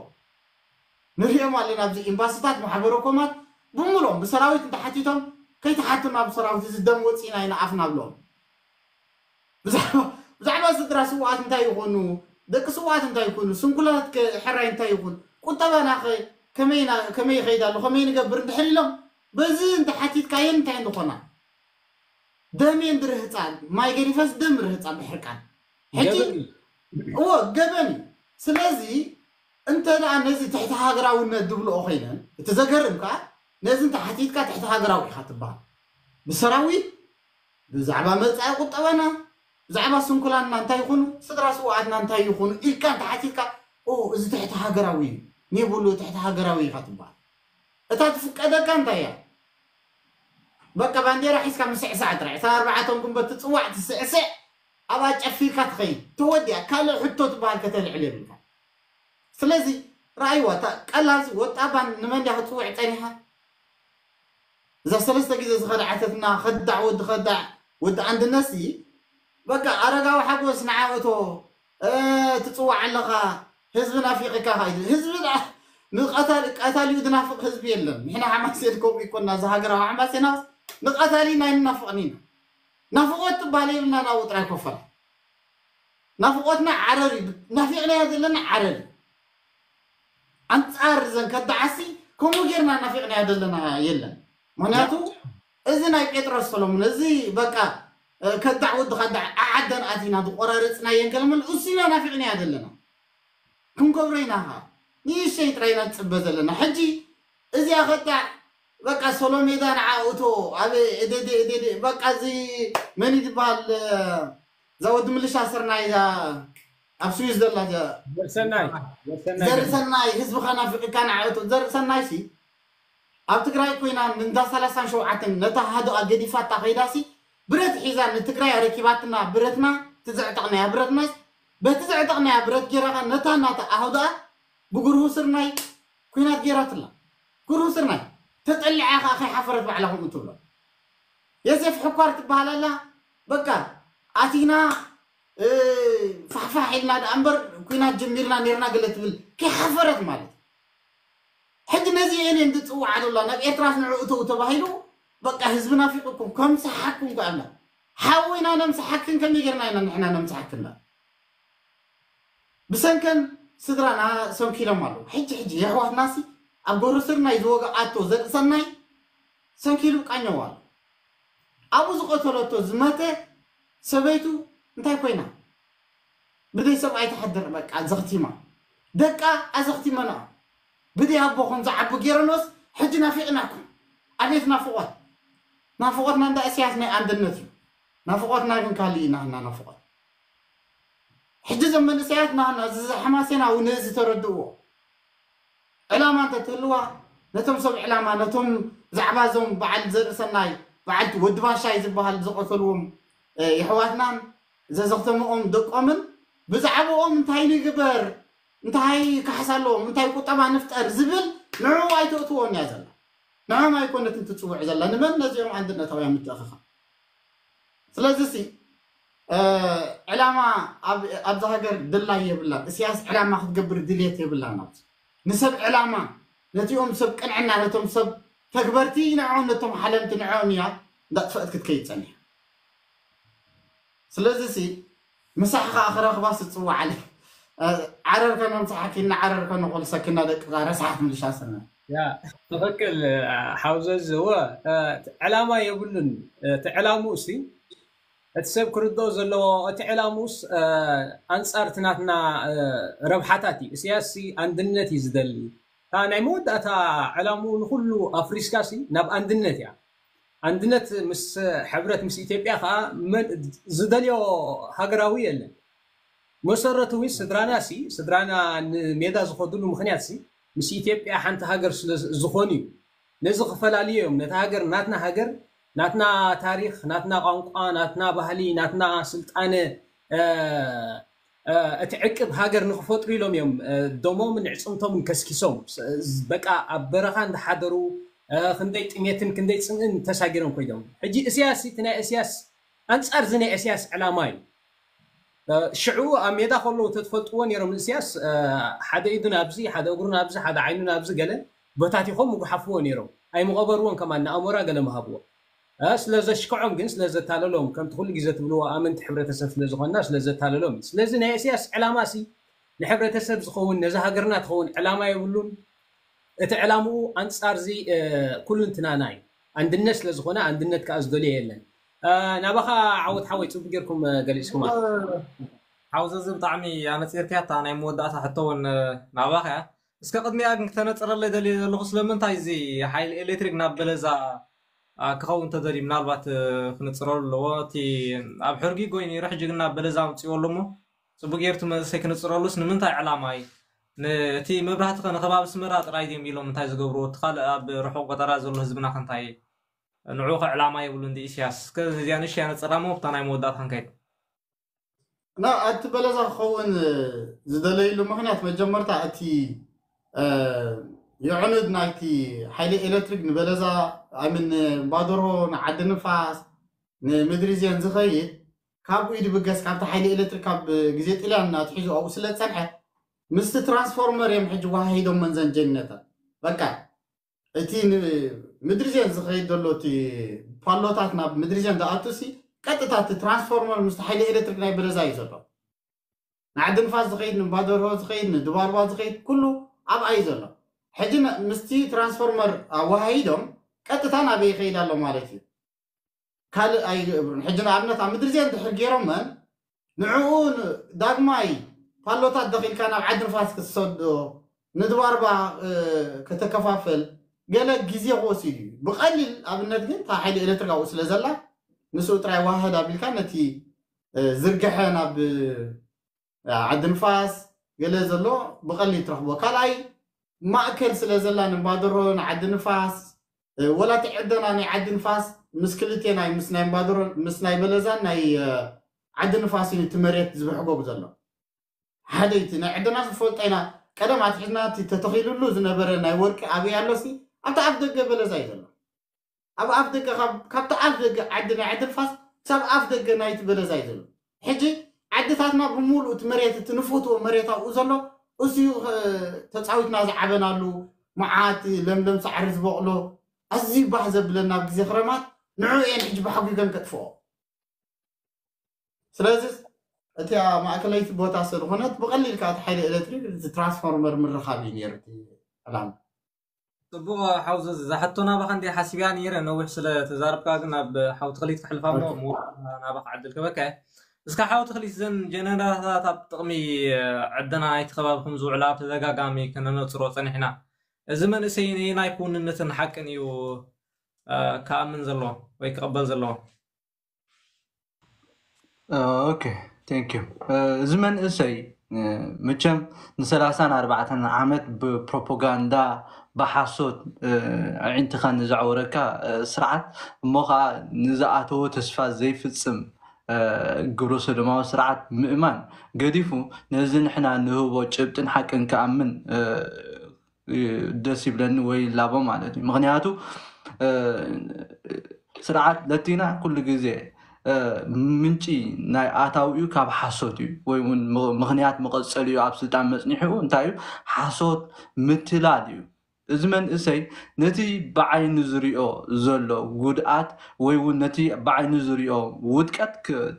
ንሪኦም ኣለና ኣብዚ ኤምባስታት ማሕበረኮማት ብምሎም ብሰራዊት እንተሓቲቶም ከይተሓቱና ብሰራዊት እዚ ደም ወፂና ኢና ኣፍና ብሎም ብዛዕባ ስድራ ስውኣት እንታይ ይኾኑ ደቂ ስውኣት እንታይ ይኾኑ ስንኩላት ሕራይ እንታይ ይኹን ቁጠባና ከመይ ይኸይድ ኣሎ ከመይ ንገብር እንድሕር ኢሎም በዚ እንተሓቲትካየን እንታይ ንኾና ደም እንድርህፃ ማይ ገዲፈስ ደም ርህፃ ብሕርቃን ሕጂ እዎ ገበን እዩ ስለዚ እንተ ደኣ ነዚ ትሕቲ ሃገራውነት ድብልኦ ኮይነን እቲ ዘገርም ከዓ ነዚ እንተሓቲትካ ትሕቲ ሃገራዊ ኢኻ ትበሃል ብሰራዊት ብዛዕባ መፃኢ ቁጠባና ብዛዕባ ስንኩላንና እንታይ ይኹኑ ስድራ ስውኣትና እንታይ ይኹኑ ኢልካ እንተሓቲትካ እዚ ትሕቲ ሃገራዊ እዩ ኔብሉ ትሕቲ ሃገራዊ ኢኻ ትበሃል እታ ትፍቀደካ እንታይ እያ በቃ ባንዴራ ሒዝካ ምስዕሳዕ ጥራይ እታ ኣርባዕተን ጉንበት ትፅዋዕ ትስዕስዕ ኣብኣ ጨፊርካ ትኸይድ ተወዲኣ ካልእ ሕቶ ትበሃል ከተልዕል የብልካ ስለዚ ረኣይዋ እታ ቀላልሲ ወጣባ ንመን ድያ ክትፅውዕ ፀኒሓ እዛ ሰለስተ ግዜ ዝኸድዓተትና ከዳዕ ወዲ ከዳዕ ወዲ ኣንድነሲ በቃ ኣረጋዊ ሓጎስ ንዓ እቶ ትፅዋዕ ኣለኻ ህዝቢ ናፊቕካ ኸይዱ ህዝቢ ንቀታሊኡ ዝናፍቕ ህዝቢ የለን ንሕና ሓማሴን ከምኡ ይኮና እዚ ሃገራዊ ሓማሴናስ ንቀታሊ ናይ ንናፍቕን ኢና ናፍቖት ትበሃል የብልና ናብኡ ጥራይ ኮፈላ ናፍቖትና ዓረር እዩ ናፊቕናዮ ዘለና ዓረር እዩ ኣንፃር እዘን ከዳዓሲ ከምኡ ጌርና ናፊቕናዮ ዘለና የለን ምክንያቱ እዚ ናይ ጴጥሮስ ሰሎሞን እዚ በቃ ከዳዕ ወዲ ከዳዕ ዓዓደን ኣቲና ዝቆራረፅናየን ገለመል እሱ ኢና ናፊቕናዮ ዘለና ክንገብሮ ኢና ኸዓ ንእሽተይ ጥራይ ኢና ንፅበ ዘለና ሕጂ እዚኣ ከዳዕ በቃ ሶሎሜዳ ንዓ እቶ ኣብ እደደ እደደ በቃ እዚ መን እዩ ዝበሃል እዛ ወዲ ምልሻ ስርናይ እዛ ኣብ ስዊስ ዘላ ዘርሰናይ ዘርሰናይ ህዝብኻ ናፊቅካ ንዓ እቶ ዘርሰናይ ሲ ኣብ ትግራይ ኮይና እንዳ ሰላሳን ሸውዓተን ነታ ሃዱኣ ገዲፋታ ከይዳሲ ብረት ሒዛ ንትግራይ ኣረኪባትና ብረትና ትዘዕጠቕናያ ብረትናስ በቲ ዘዕጠቕናያ ብረት ጌራኻ ነታ እናተ ኣህዱኣ ብጉርሁ ስርናይ ኩናት ጌራትላ። ጉርሁ ስርናይ ተጠሊዓ ከኣ ከይሓፈረት ባዕላ ከምኡ ትብሎ። የሴፍ ሕኳር ትበሃል ኣላ። በቃ ኣቲና ፋሕፋሕ ኢልና ደኣ እምበር ኩናት ጀሚርና ኔርና ገለ ትብል ከይሓፈረት ማለት። ሕጂ ነዚ እየን እየን ዝፅውዓ ዘላ ናብ ኤርትራስ ንዕኡ እተው ተባሂሉ በቃ ህዝቢ ናፊቁኩም ከምስሓኩም ከኣላ ሓዊና ነምስሓክን ከመይ ጌርና ኢና ንሕና ነምስሓክና ብሰንከን ስድራና ሰንኪሎም ኣለዉ። ሕጂ ሕጂ የሕዋትናሲ ኣብ ጎረስርናይ ዝወግኣቶ ዘርእሰናይ ሰንኪሉ ቃኘው ኣሎ። ኣብኡ ዝቐተለቶ ዝመተ ሰበይቱ እንታይ ኮይና? ብደይ ሰብኣይ ትሓድር፣ በቃ ኣዘኽቲማ። ደቃ ኣዘኽቲመና። ብደይ ኣቦ ከም ዝዓቡ ገይረኖስ ሕጂ ናፊቕናኩም። ኣቤት ናፍቖት። ናፍቖትና እንዳ እስያስ ናይ ኣንድነት እዩ። ናፍቖትና ግን ካልእ እዩ ናህና ናፍቖት። ሕጂ እዞም መንእሰያት ናህና እዚ ሓማሴና እውን እዚ ተረድእዎ። ዕላማ እንተትህልዋ ነቶም ሰብ ዕላማ ነቶም ብዛዕባ እዞም በዓል ዘርእሰናይ በዓል ወዲ ባሻይ ዝበሃል ዝቐተልዎም የሕዋትናን ዘዘኽተምኦም ደቆምን ብዛዕባኦም እንታይ ንግበር እንታይ ካሕሳ ኣለዎም እንታይ ቁጠባ ንፍጠር ዝብል ንዕኡ ኣይተእትዎን እያ ዘላ። ንዕኦም ኣይኮነትን ትፅውዕ ዘላ ንመን ነዚኦም ኣንድነታውያን ምትእኽኻ። ስለዚ ሲ ዕላማ ኣብዛ ሃገር ድላይ የብላን። እስያስ ዕላማ ክትገብር ድልየት የብላን። ኣብዚ ንሰብ ዕላማ ነቲኦም ሰብ ቅንዕና ነቶም ሰብ ተግበርቲ ንዕኦም ነቶም ሓለምቲ ንዕኦም እያ እንዳጥፈእት ክትከይድ ፀኒሓ። ስለዚ ሲ ምሳሕ ከዓ ክረኽባ ስፅዋዓለ ዓረር ከነምሳሓኪ እናዓረር ከነኾልሰኪ እናደቅዛ ረሳሓት ምልሻ ስነ ያ ትኽክል። ሓውዘዝ እወ ዕላማ የብሉን። እቲ ዕላምኡ ሲ እቲ ሰብ ክርድኦ ዘለዎ እቲ ዕላምኡስ ኣንፃር እቲ ናትና ረብሓታት እዩ። እስያስ ሲ ኣንድነት እዩ ዝደሊ። እታ ናይ መወዳእታ ዕላምኡ ንኩሉ ኣፍሪስካ ሲ ናብ ኣንድነት እያ። ኣንድነት ምስ ሕብረት ምስ ኢትዮጵያ ከዓ ዝደልዮ ሃገራዊ የለን። መሰረቱ እውን ስድራና ሲ ስድራና ንሜዳ ዝኸዱሉ ምክንያት ሲ ምስ ኢትዮጵያ ሓንቲ ሃገር ስለ ዝኾኑ እዩ። ነዚ ክፈላልዮ እዮም ነቲ ሃገር ናትና ሃገር ናትና ታሪክ ናትና ቋንቋ ናትና ባህሊ ናትና ስልጣነ እቲ ዕቅብ ሃገር ንክፈጥሩ ኢሎም እዮም ደሞምን ዕፅምቶምን ከስኪሶም በቃ ኣብ በረኻ እንዳሓደሩ ክንደይ ጥሜትን ክንደይ ፅምእን ተሳጊሮም ኮይዶም። ሕጂ እስያስ እቲ ናይ እስያስ ኣንፃር እዚ ናይ እስያስ ዕላማ እዩ። ሽዑ ኣብ ሜዳ ከለዉ ተትፈልጥዎ ነይሮም ንእስያስ ሓደ ኢዱ ናብዚ ሓደ እግሩ ናብዚ ሓደ ዓይኑ ናብዚ ገለ በታቲኾም ምጉሓፍዎ ነይሮም ኣይምቐበርዎን ከማን ንኣሞራ ገለ ምሃብዎ ስለ ዘሽክዖም ግን ስለ ዘታለሎም ከምቲ ኩሉ ግዜ ትብልዎ ኣመንቲ ሕብረተሰብ ስለ ዝኾንና ስለ ዘታለሎም እዩ። ስለዚ ናይ እስያስ ዕላማ ሲ ንሕብረተሰብ ዝኸውን ነዚ ሃገርና ትኸውን ዕላማ የብሉን። እቲ ዕላምኡ ኣንፃር ዚ ኩልንትናና እዩ። ኣንድነት ስለ ዝኾነ ኣንድነት ከዓ ዝደልዮ የለን። ናባኻ ዓወት ሓወይ ፅቡቅ ጌርኩም ገሊፅኩማ። ሓውዘዚ ብጣዕሚ ኣነፂርክያ እታ ናይ መወዳእታ ሕቶ እውን ናባኻ እያ። እስከ ቅድሚኣ ግን ክተነፅረለይ ደልየ ዘለኹ ስለምንታይ እዚ ሓይሊ ኤሌክትሪክ ናብ በለዛ ክኸውን ተደልዩ ምናልባት ክንፅረሉ ኣለዎ። እቲ ኣብ ሕርጊ ጎይ ነይሩ ሕጂ ግን ናብ በለዛ ኣምፅዎ ኣሎ እሞ ፅቡቅ ጌርቱ መንእሰይ ክንፅረሉስ ንምንታይ ዕላማ እዩ? እቲ መብራህቲ ከ ንከባቢ ስመራ ጥራይ ድዮም ኢሎም እንታይ ዝገብርዎ እቲ ካልእ ኣብ ርሑቅ ቆጠራ ዘሎ ህዝብና ከ እንታይ ንዑ ከ ዕላማ የብሉ እንዲ ኢስያስ እስከ እዚኣ ንሽ ያነፅራ ሞ ብታ ናይ መወዳእታ ክንከይድ ና እቲ በለዛ ክኸውን ዝደለይሉ ምክንያት መጀመርታ እቲ የዕኑድ ናይቲ ሓይሊ ኤሌክትሪክ ንበለዛ ኣምን ባደርሆ ንዓዲ ንፋስ ንምድሪ ዜን ዝኸይድ ካብ ኢድ ብገስ ካብቲ ሓይሊ ኤሌክትሪክ ካብ ግዜ ጥልያን ኣትሒዙ ኣብኡ ስለ ዝፀንሐ ምስቲ ትራንስፎርመር እዮም ሕጂ ዋሃሂዶም መንዘን ጀነተን በቃ እቲ ምድሪ ዜን ዝኸይድ ዘሎ እቲ ፓሎታት ናብ ምድሪ ዜን ዝኣቱ ሲ ቀጥታ እቲ ትራንስፎርመር ምስቲ ሓይሊ ኤሌክትሪክ ናይ በለዛ እዩ ዘሎ ንዓዲ ንፋስ ዝኸይድ ንባደርሆ ዝኸይድ ንድባርባ ዝኸይድ ኩሉ ኣብኣ እዩ ዘሎ ሕጂ ምስቲ ትራንስፎርመር ኣዋሃሂዶም ቀጥታ ናበይ ይኸይድ ኣሎ ማለት እዩ ካልእ ኣይገብሩን ሕጂ ንኣብነት ኣብ ምድሪ ዜን ድሕር ገይሮመን ንዕኡ ዳግማይ ፓሎታት ደኺልካ ናብ ዓዲ ንፋስ ክትሰዶ ንድባርባ ከተከፋፈል ገለ ግዜ ክወስድ እዩ ብቐሊል ኣብነት ግን እታ ሓይሊ ኤሌክትሪክ ኣብኡ ስለ ዘላ ንስኡ ጥራይ ዋህድ ኣቢልካ ነቲ ዝርግሐ ናብ ዓዲ ንፋስ ገለ ዘሎ ብቐሊል ትረኽቦ ካልኣይ ማእከል ስለ ዘላ ንባደሮ ንዓዲ ንፋስ ወላ እቲ ዕደና ናይ ዓዲ ንፋስ ምስ ክልቴ ናይ ምስ ናይ ባደሮ ምስ ናይ በለዛን ናይ ዓዲ ንፋስ እዩ እቲ መሬት ዝብሕጎ ዘሎ ሓደ እቲ ናይ ዕደና ዝፈልጦ ኢና ቀደም ኣትሒዝና እቲ ተተኺሉሉ ዝነበረ ናይ ወርቂ ኣበይ ኣሎሲ ኣብቲ ኣፍ ደገ በለዛ እዩ ዘሎ ኣብ ኣፍ ደገ ካብቲ ኣፍ ደገ ዓዲ ናይ ዓዲ ንፋስ ክሳብ ኣፍ ደገ ናይቲ በለዛ እዩ ዘሎ ሕጂ ዓድታትና ብምሉእ እቲ መሬት እቲ ንፍትዎ መሬት ኣብኡ ዘሎ እሱ ተፃዊትና ዝዓበናሉ መዓት ለምለም ሳዕሪ ዝበቕሎ ኣዝዩ ባህ ዘብለና ኣብ ግዜ ክረማት ንዑ እየን ሕጂ ብሓጒገን ከጥፍኦ ስለዚ እቲኣ ማእከለይቲ ቦታ ስለዝኾነት ብቐሊል ከዓ እቲ ሓይሊ ኤሌክትሪክ እቲ ትራንስፎርመር ምርኻብ እዩ ነይሩ እቲ ዕላማ። ጽቡቕ ሓውዚ፣ እዛ ሕቶ ናባኻ እንዲ ሓሲብያ ነይረ፣ ነዊሕ ስለ ተዛረብካ ግን ናብ ሓው ተኽሊት ክሕልፋ እሞ ኦኬ። ምውዳእ ናባኻ ዕድል ክበካ እየ። እስከ ሓው ተኽሊት፣ እዘን ጀነሬተራት ኣብ ጥቕሚ ዕደና ናይቲ ከባቢ ከም ዝውዕላ ብተደጋጋሚ ከነነጽሮ ጸኒሕና። እዚ መንእሰይ ነየናይ ክውንነትን ሓቅን እዩ እ፣ ክኣምን ዘለዎ ወይ ክቕበል ዘለዎ? ኦኬ፣ ቴንክ ዩ። እዚ መንእሰይ እ፣ መቸም ንሰላሳን ኣርባዕተን ዓመት ብፕሮፓጋንዳ ብሓሶት እ፣ ኣዒንትኻ ንዘዕወረካ እ፣ ስርዓት እሞ ከዓ ንዝኣተዎ ተስፋ ዘይፍፅም እ፣ ግብረ ሰዶማዊ ስርዓት ምእማን ገዲፉ ነዚ ንሕና ንህቦ ጭብጥን ሓቅን ክኣምን እ፣ እ፣ ደስ ይብለኒ ወይ ይላቦ ማለት እዩ። ምክንያቱ እ፣ ስርዓት ለቲና ኩሉ ግዜ እ፣ ምንጪ ናይ ኣታዊኡ ካብ ሓሶት እዩ ወይ እውን ም- ምክንያት መቐፀሊኡ ኣብ ስልጣን መፅኒሑ እንታይ እዩ ሓሶት ምትላል እዩ። እዚ መንእሰይ ነቲ ብዓይኑ ዝሪኦ ዘሎ ጉድኣት ወይ እውን ነቲ ብዓይኑ ዝሪኦ ውድቀት ክ-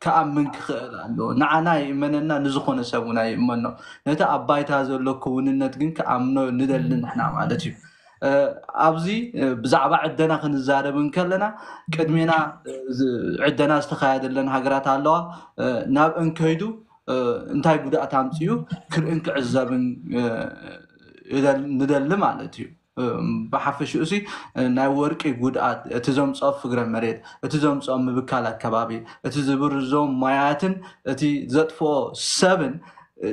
ክኣምን ክኽእል ኣለዎ። ንዓና ይእመነና፣ ንዝኾነ ሰብ እውን ኣይእመኖ። ነቲ ኣብ ባይታ ዘሎ ክውንነት ግን ክኣምኖ ንደሊ ንሕና ማለት እዩ። እ፣ ኣብዚ እ፣ ብዛዕባ ዕደና ክንዛረብ እንከለና ቅድሜና እ፣ ዝ- ዕደና ዝተኻየደለን ሃገራት ኣለዋ። እ፣ ናብ እንከይዱ እ፣ እንታይ ጉድኣት ኣምፅኡ ክርእን ክዕዘብን እ፣ ይደል- ንደሊ ማለት እዩ። እ፣ ብሓፈሽኡ ሲ እ፣ ናይ ወርቂ ጉድኣት እቲ ዘምፅኦ ፍግረ መሬት፣ እቲ ዘምፅኦ ምብካል ኣከባቢ፣ እቲ ዝብርዞ ማያትን እቲ ዘጥፍኦ ሰብን እ፣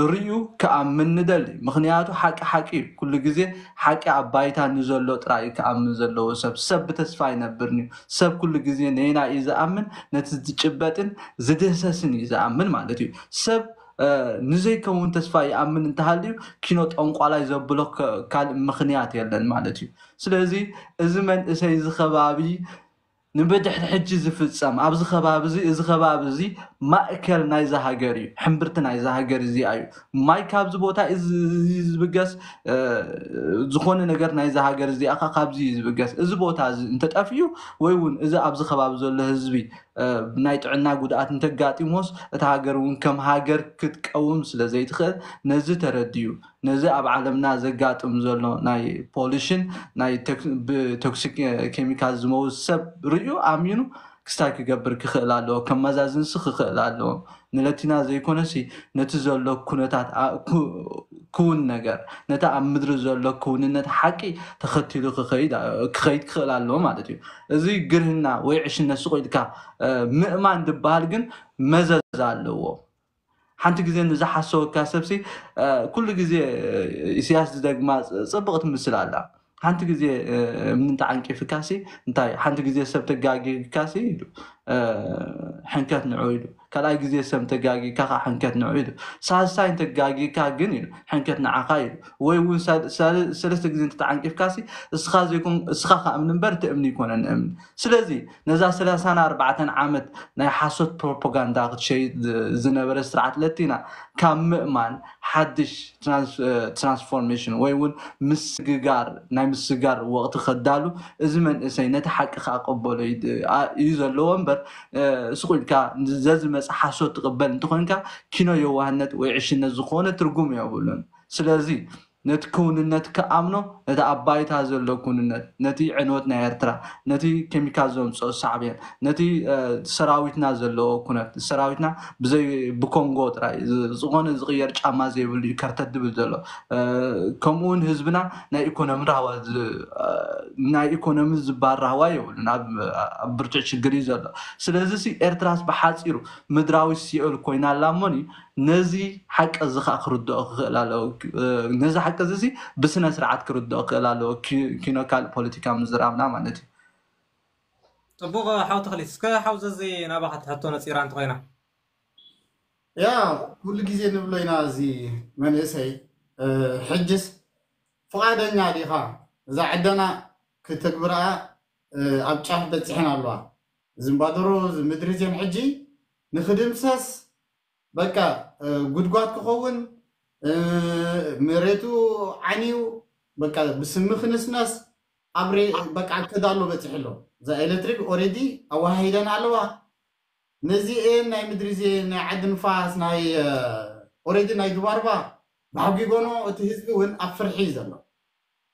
ርእዩ ክኣምን ንደሊ። ምክንያቱ ሓቂ ሓቂ እዩ። ኩሉ ግዜ ሓቂ ኣብ ባይታ ንዘሎ ጥራይ እዩ ክኣምን ዘለዎ ሰብ። ሰብ ብተስፋ ኣይነብርን እዩ። ሰብ ኩሉ ግዜ ነየና እዩ ዝኣምን? ነቲ ዝጭበጥን ዝድህሰስን እዩ ዝኣምን ማለት እዩ። ሰብ እ፣ ንዘይከውን ተስፋ ይኣምን እንተሃልዩ ኪኖ ጠንቋላይ ዘብሎ ከ- ካልእ ምክንያት የለን ማለት እዩ። ስለዚ እዚ መንእሰይ እዚ ከባቢ ንብድሕሪ ሕጂ ዝፍጸም ኣብዚ ከባቢ እዚ እዚ ከባቢ እዚ ማእከል ናይዛ ሃገር እዩ፣ ሕምብርቲ ናይዛ ሃገር እዚኣ እዩ። ማይ ካብዚ ቦታ እዚ እዚ ዝብገስ እ፣ ዝኾነ ነገር ናይዛ ሃገር እዚኣ ኸ ካብዚ እዩ ዝብገስ። እዚ ቦታ እዚ እንተጠፍዩ ወይ እውን እዚ ኣብዚ ከባቢ ዘሎ ህዝቢ እ፣ ናይ ጥዕና ጉድኣት እንተጋጢሞስ እታ ሃገር እውን ከም ሃገር ክትቀውም ስለ ዘይትኽእል ነዚ ተረድዩ ነዚ ኣብ ዓለምና ዘጋጥም ዘሎ ናይ ፖሊሽን ናይ ቶክ- ብቶክሲክ ኬሚካል ዝመውት ሰብ ርእዩ ኣሚኑ ክስታይ ክገብር ክኽእል ኣለዎ፣ ከመዛዝንሲ ክኽእል ኣለዎ። ንለቲና ዘይኮነሲ ነቲ ዘሎ ኩነታት ኣ- ኩ- ክውን ነገር ነቲ ኣብ ምድሪ ዘሎ ክውንነት ሓቂ ተኸቲሉ ክኸይድ ክኸይድ ክኽእል ኣለዎ ማለት እዩ። እዚ ግርህና ወይ ዕሽነት ስቕ ኢልካ እ፣ ምእማን ዝበሃል ግን መዘዝ ኣለዎ። ሓንቲ ግዜ ንዝሓሰወካ ሰብሲ እ፣ ኩሉ ግዜ እ፣ ኢሳያስ ዝደግማ ፅ- ፅብቕቲ ምስል ኣላ። ሓንቲ ግዜ እ፣ እምኒ እንተዓንቂፍካሲ እንታይ ሓንቲ ግዜ ሰብ ተጋጊካሲ ኢሉ እ፣ ሕንከት ንዑ ኢሉ ካልኣይ ግዜ ሰብ ተጋጊካ ከዓ ሕንከት ንዑ ኢሉ ሳልሳይ ተጋጊካ ግን ኢሉ ሕንከት ንዓኻ ኢሉ ወይ እውን ሳል- ሳል- ሰለስተ ግዜ እንተተዓንቂፍካሲ እስኻ ዘይኮን እስኻ ከኣምን እምበር እቲ እምኒ ይኮነን እምኒ ስለዚ ነዛ ሰላሳን ኣርባዕተን ዓመት ናይ ሓሶት ፕሮፓጋንዳ ክትሸይጥ ዝ- ዝነበረ ስርዓት ለቲና ካብ ምእማን ሓድሽ ትራንስ- እ፣ ትራንስፎርሜሽን ወይ እውን ምስግጋር ናይ ምስግጋር ወቕቲ ከዳሉ እዚ መንእሰይ ነቲ ሓቂ ከኣቀበሎ እዩ ድ- ኣ- እዩ ዘለዎ እምበር እ፣ ስቕ ኢልካ ዘዝመፅ ሓሶት ትቕበል እንተኾንካ ኪኖ የዋህነት ወይ ዕሽነት ዝኾነ ትርጉም የብሉን። ስለዚ ነቲ ክውንነት ክኣምኖ ነቲ ኣብ ባይታ ዘሎ ክውንነት ነቲ ዕንወት ናይ ኤርትራ ነቲ ኬሚካል ዘምፅኦ ሳዕቤን ነቲ እ፣ ሰራዊትና ዘለዎ ኩነት ሰራዊትና ብዘይ ብኮንጎ ጥራይ ዝ- ዝኾነ ዝቕየር ጫማ ዘይብሉ እዩ ከርተት ድብል ዘሎ እ፣ ከምኡ እውን ህዝብና ናይ ኢኮኖሚ ራህዋ ዝ- እ፣ ናይ ኢኮኖሚ ዝበሃል ራህዋ የብሉን ኣብ ኣብ ብርቱዕ ሽግር እዩ ዘሎ ስለዚ ሲ ኤርትራስ ብሓፂሩ ምድራዊ ሲኦል ኮይና ኣላ እሞኒ ነዚ ሓቂ እዚ ከዓ ክርድኦ ክኽእል ኣለዎ እ፣ ነዚ ሓቂ እዚ ሲ ብስነ ስርዓት ክርድኦ ክኽእል ኣለዎ ኪ- ኪኖ ካልእ ፖለቲካ ምዝራብና ማለት እዩ ጽቡቕ ሓው ተኽሊት፣ እስከ ሓው ዘዚ ናባኻ ትሕቶ ነጺራ እንተኾይና። ያ ኩሉ ግዜ ንብሎ ኢና እዚ መንእሰይ እ፣ ሕጅስ ፍቓደኛ ዲኻ እዛ ዕደና ክትግብርኣ እ፣ ኣብ ጫፍ በፂሐን ኣለዋ ዝምባደሮ ምድሪ እዚን ሕጂ ንክድምሰስ በቃ እ፣ ጉድጓድ ክኸውን እ፣ መሬቱ ዓንዩ በቃ ብስሚ ክንስነስ ኣብ ሬ- በቃ ክዳሎ በፂሑ ኣሎ እዛ ኤሌክትሪክ ኦሬዲ ኣወሃሂደን ኣለዋ ነዚኤን ናይ ምድሪ ዜ ናይ ዓዲ ንፋስ ናይ ኦሬዲ ናይ ድባርባ ብሓጊጎኖ እቲ ህዝቢ እውን ኣብ ፍርሒ እዩ ዘሎ።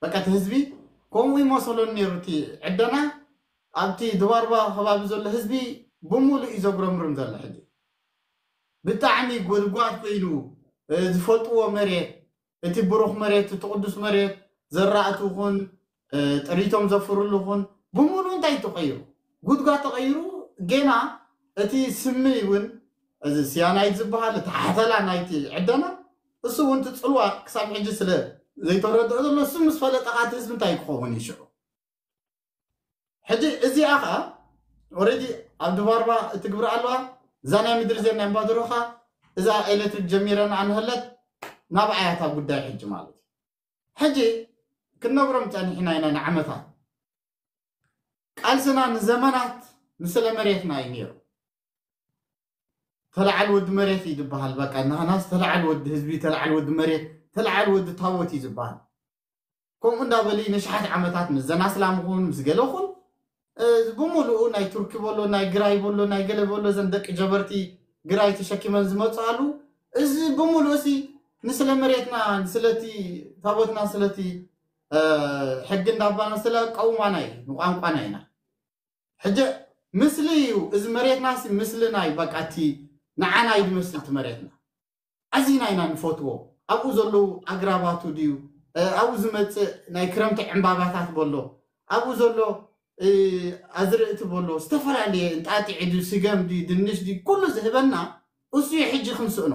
በቃ እቲ ህዝቢ ከምኡ ይመሰሎን ነይሩ። እቲ ዕደና ኣብቲ ድባርባ ከባቢ ዘሎ ህዝቢ ብምሉእ እዩ ዘጉረምርም ዘሎ። ሕጂ ብጣዕሚ ጎድጓድ ኮይኑ ዝፈልጥዎ መሬት፣ እቲ ብሩኽ መሬት፣ እቲ ቅዱስ መሬት፣ ዘራእቲ ኹን ጥሪቶም ዘፍርሉ ኹን ብምሉእ እንታይ ተቐይሩ? ጉድጓድ ተቐይሩ። ጌና እቲ ስሚ እውን እዚ ስያናይት ዝበሃል እቲ ሓተላ ናይቲ ዕደና እሱ እውን ትፅልዋ ክሳብ ሕጂ ስለ ዘይተረድኦ ዘሎ እሱ ምስ ፈለጠ ኻቲ ህዝቢ እንታይ ክኸውን እዩ ሽዑ? ሕጂ እዚኣ ኸዓ ኦሬዲ ኣብ ድባርባ እትግብር ኣለዋ። እዛ ናይ ምድሪ ዜና እምባደሮኻ እዛ ኤሌክትሪክ ጀሚረን ኣንህለት ናብ ኣያታ ጉዳይ ሕጂ ማለት እዩ። ሕጂ ክንነግሮም ጸኒሕና ኢና ንዓመታት። ቃልስና ንዘመናት ንስለ መሬትና እዩ ነይሩ። ተለዓል ወዲ መሬት እዩ ዝበሃል። በቃ ናህናስ ተለዓል ወዲ ህዝቢ፣ ተለዓል ወዲ መሬት፣ ተለዓል ወዲ ታቦት እዩ ዝበሃል። ከምኡ እንዳበሊ ንሽሓት ዓመታት ምስ ዘናስላምኹን ምስ ገለኹን ብምሉኡ ናይ ቱርኪ በሎ ናይ ግራይ በሎ ናይ ገለ በሎ ዘን ደቂ ጀበርቲ ግራይ ተሸኪመን ዝመፁ ኣሉ። እዚ ብምሉኡ ሲ ንስለ መሬትና ስለቲ ታቦትና ስለቲ ሕጊ እንዳባና ስለ ቀውማና እዩ ንቋንቋና ኢና። ሕጂ ምስሊ እዩ እዚ መሬትና ሲ ምስልና እዩ። በቃ እቲ ንዓና እዩ ዝመስል እቲ መሬትና። ኣዚና ኢና ንፈትዎ። ኣብኡ ዘለዉ ኣግራባቱ ድዩ ኣብኡ ዝመፅእ ናይ ክረምቲ ዕምባባታት በሎ ኣብኡ ዘሎ ኣዝርእቲ በሎ ዝተፈላለየ እንጣጢዒ ድዩ ስገም ድዩ ድንሽ ድዩ ኩሉ ዝህበና እሱ እዩ። ሕጂ ክንስእኖ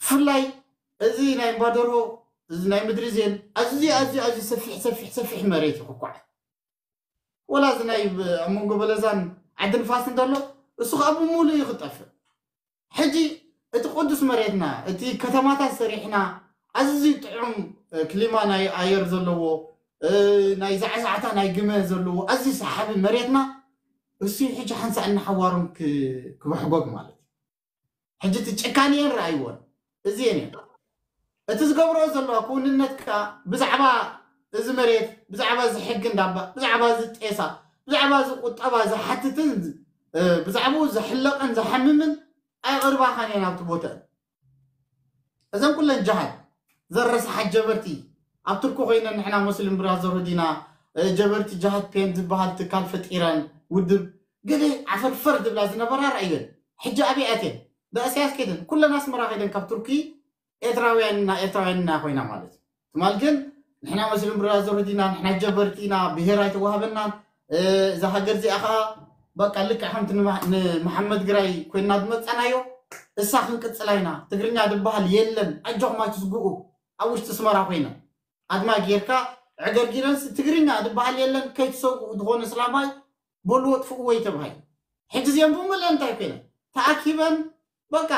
ብፍላይ እዚ ናይ እምባደርሆ እዚ ናይ ምድሪ ዜን ኣዝዩ ኣዝዩ ኣዝዩ ሰፊሕ ሰፊሕ ሰፊሕ መሬት እዩ ክኳዕ ወላ እዚ ናይ ኣብ መንጎ በለዛን ዓዲ ንፋስ እንተሎ እሱ ከዓ ብምሉእ እዩ ክጠፍእ። ሕጂ እቲ ቅዱስ መሬትና እቲ ከተማታት ሰሪሕና ኣዝዩ ጥዑም ክሊማ ናይ ኣየር ዘለዎ ናይ ዛዕዛዕታ ናይ ግመ ዘለዎ ኣዝዩ ሰሓቢ መሬትና እሱ ሕጂ ሓንሳእ እናሓዋሮም ክበሕጎግ ማለት እዩ። ሕጂ እቲ ጭካኔ እየን ረኣይዎን እዚየን እየን እቲ ዝገብረኦ ዘለዋ ክውንነት ከዓ ብዛዕባ እዚ መሬት ብዛዕባ እዚ ሕጊ እንዳባ ብዛዕባ እዚ ጤሳ ብዛዕባ እዚ ቁጠባ ዝሓትትን ብዛዕባኡ ዘሕለቕን ዘሓምምን ኣይቕርባኻን እየን ኣብቲ ቦተን እዘን ኩለን ጃሃት ዘረስሓት ጀበርቲ ኣብ ትርኩ ኮይነን ንሕና ሙስሊም ብራዘርሁድ ኢና ጀበርቲ ጃሃት ፔን ዝበሃል ትካል ፈጢረን ውድብ ገለ ዓፈርፈር ዝብላ ዝነበራ ርኣየን ሕጂ ኣበይ ኣትየን ብእስያስ ከይደን ኩለን ኣስመራ ከይደን ካብ ቱርኪ ኤርትራውያን እና ኤርትራውያን እና ኮይና ማለት እዩ ትማል ግን ንሕና ሙስሊም ብራዘርሁድ ኢና ንሕና ጀበርቲ ኢና ብሄር ኣይተዋህበናን እዛ ሃገር እዚኣ ከዓ በቃ ልክዕ ከምቲ ንመሓመድ ግራይ ኮይና ዝመፀናዮ እሳ ክንቅፅላ ኢና ትግርኛ ዝበሃል የለን ኣጆኹም ኣይትስግኡ ኣብ ውሽጢ ኣስመራ ኮይና ኣድማ ጌርካ ዕገርጊረንስ ትግርኛ ዝበሃል የለን ከይትሰግኡ ዝኾነ እስላማይ በልዎ ጥፍእዎ ይተብሃይ ሕጂ እዚኦም ብምልእ እንታይ ኮይነን ተኣኪበን በቃ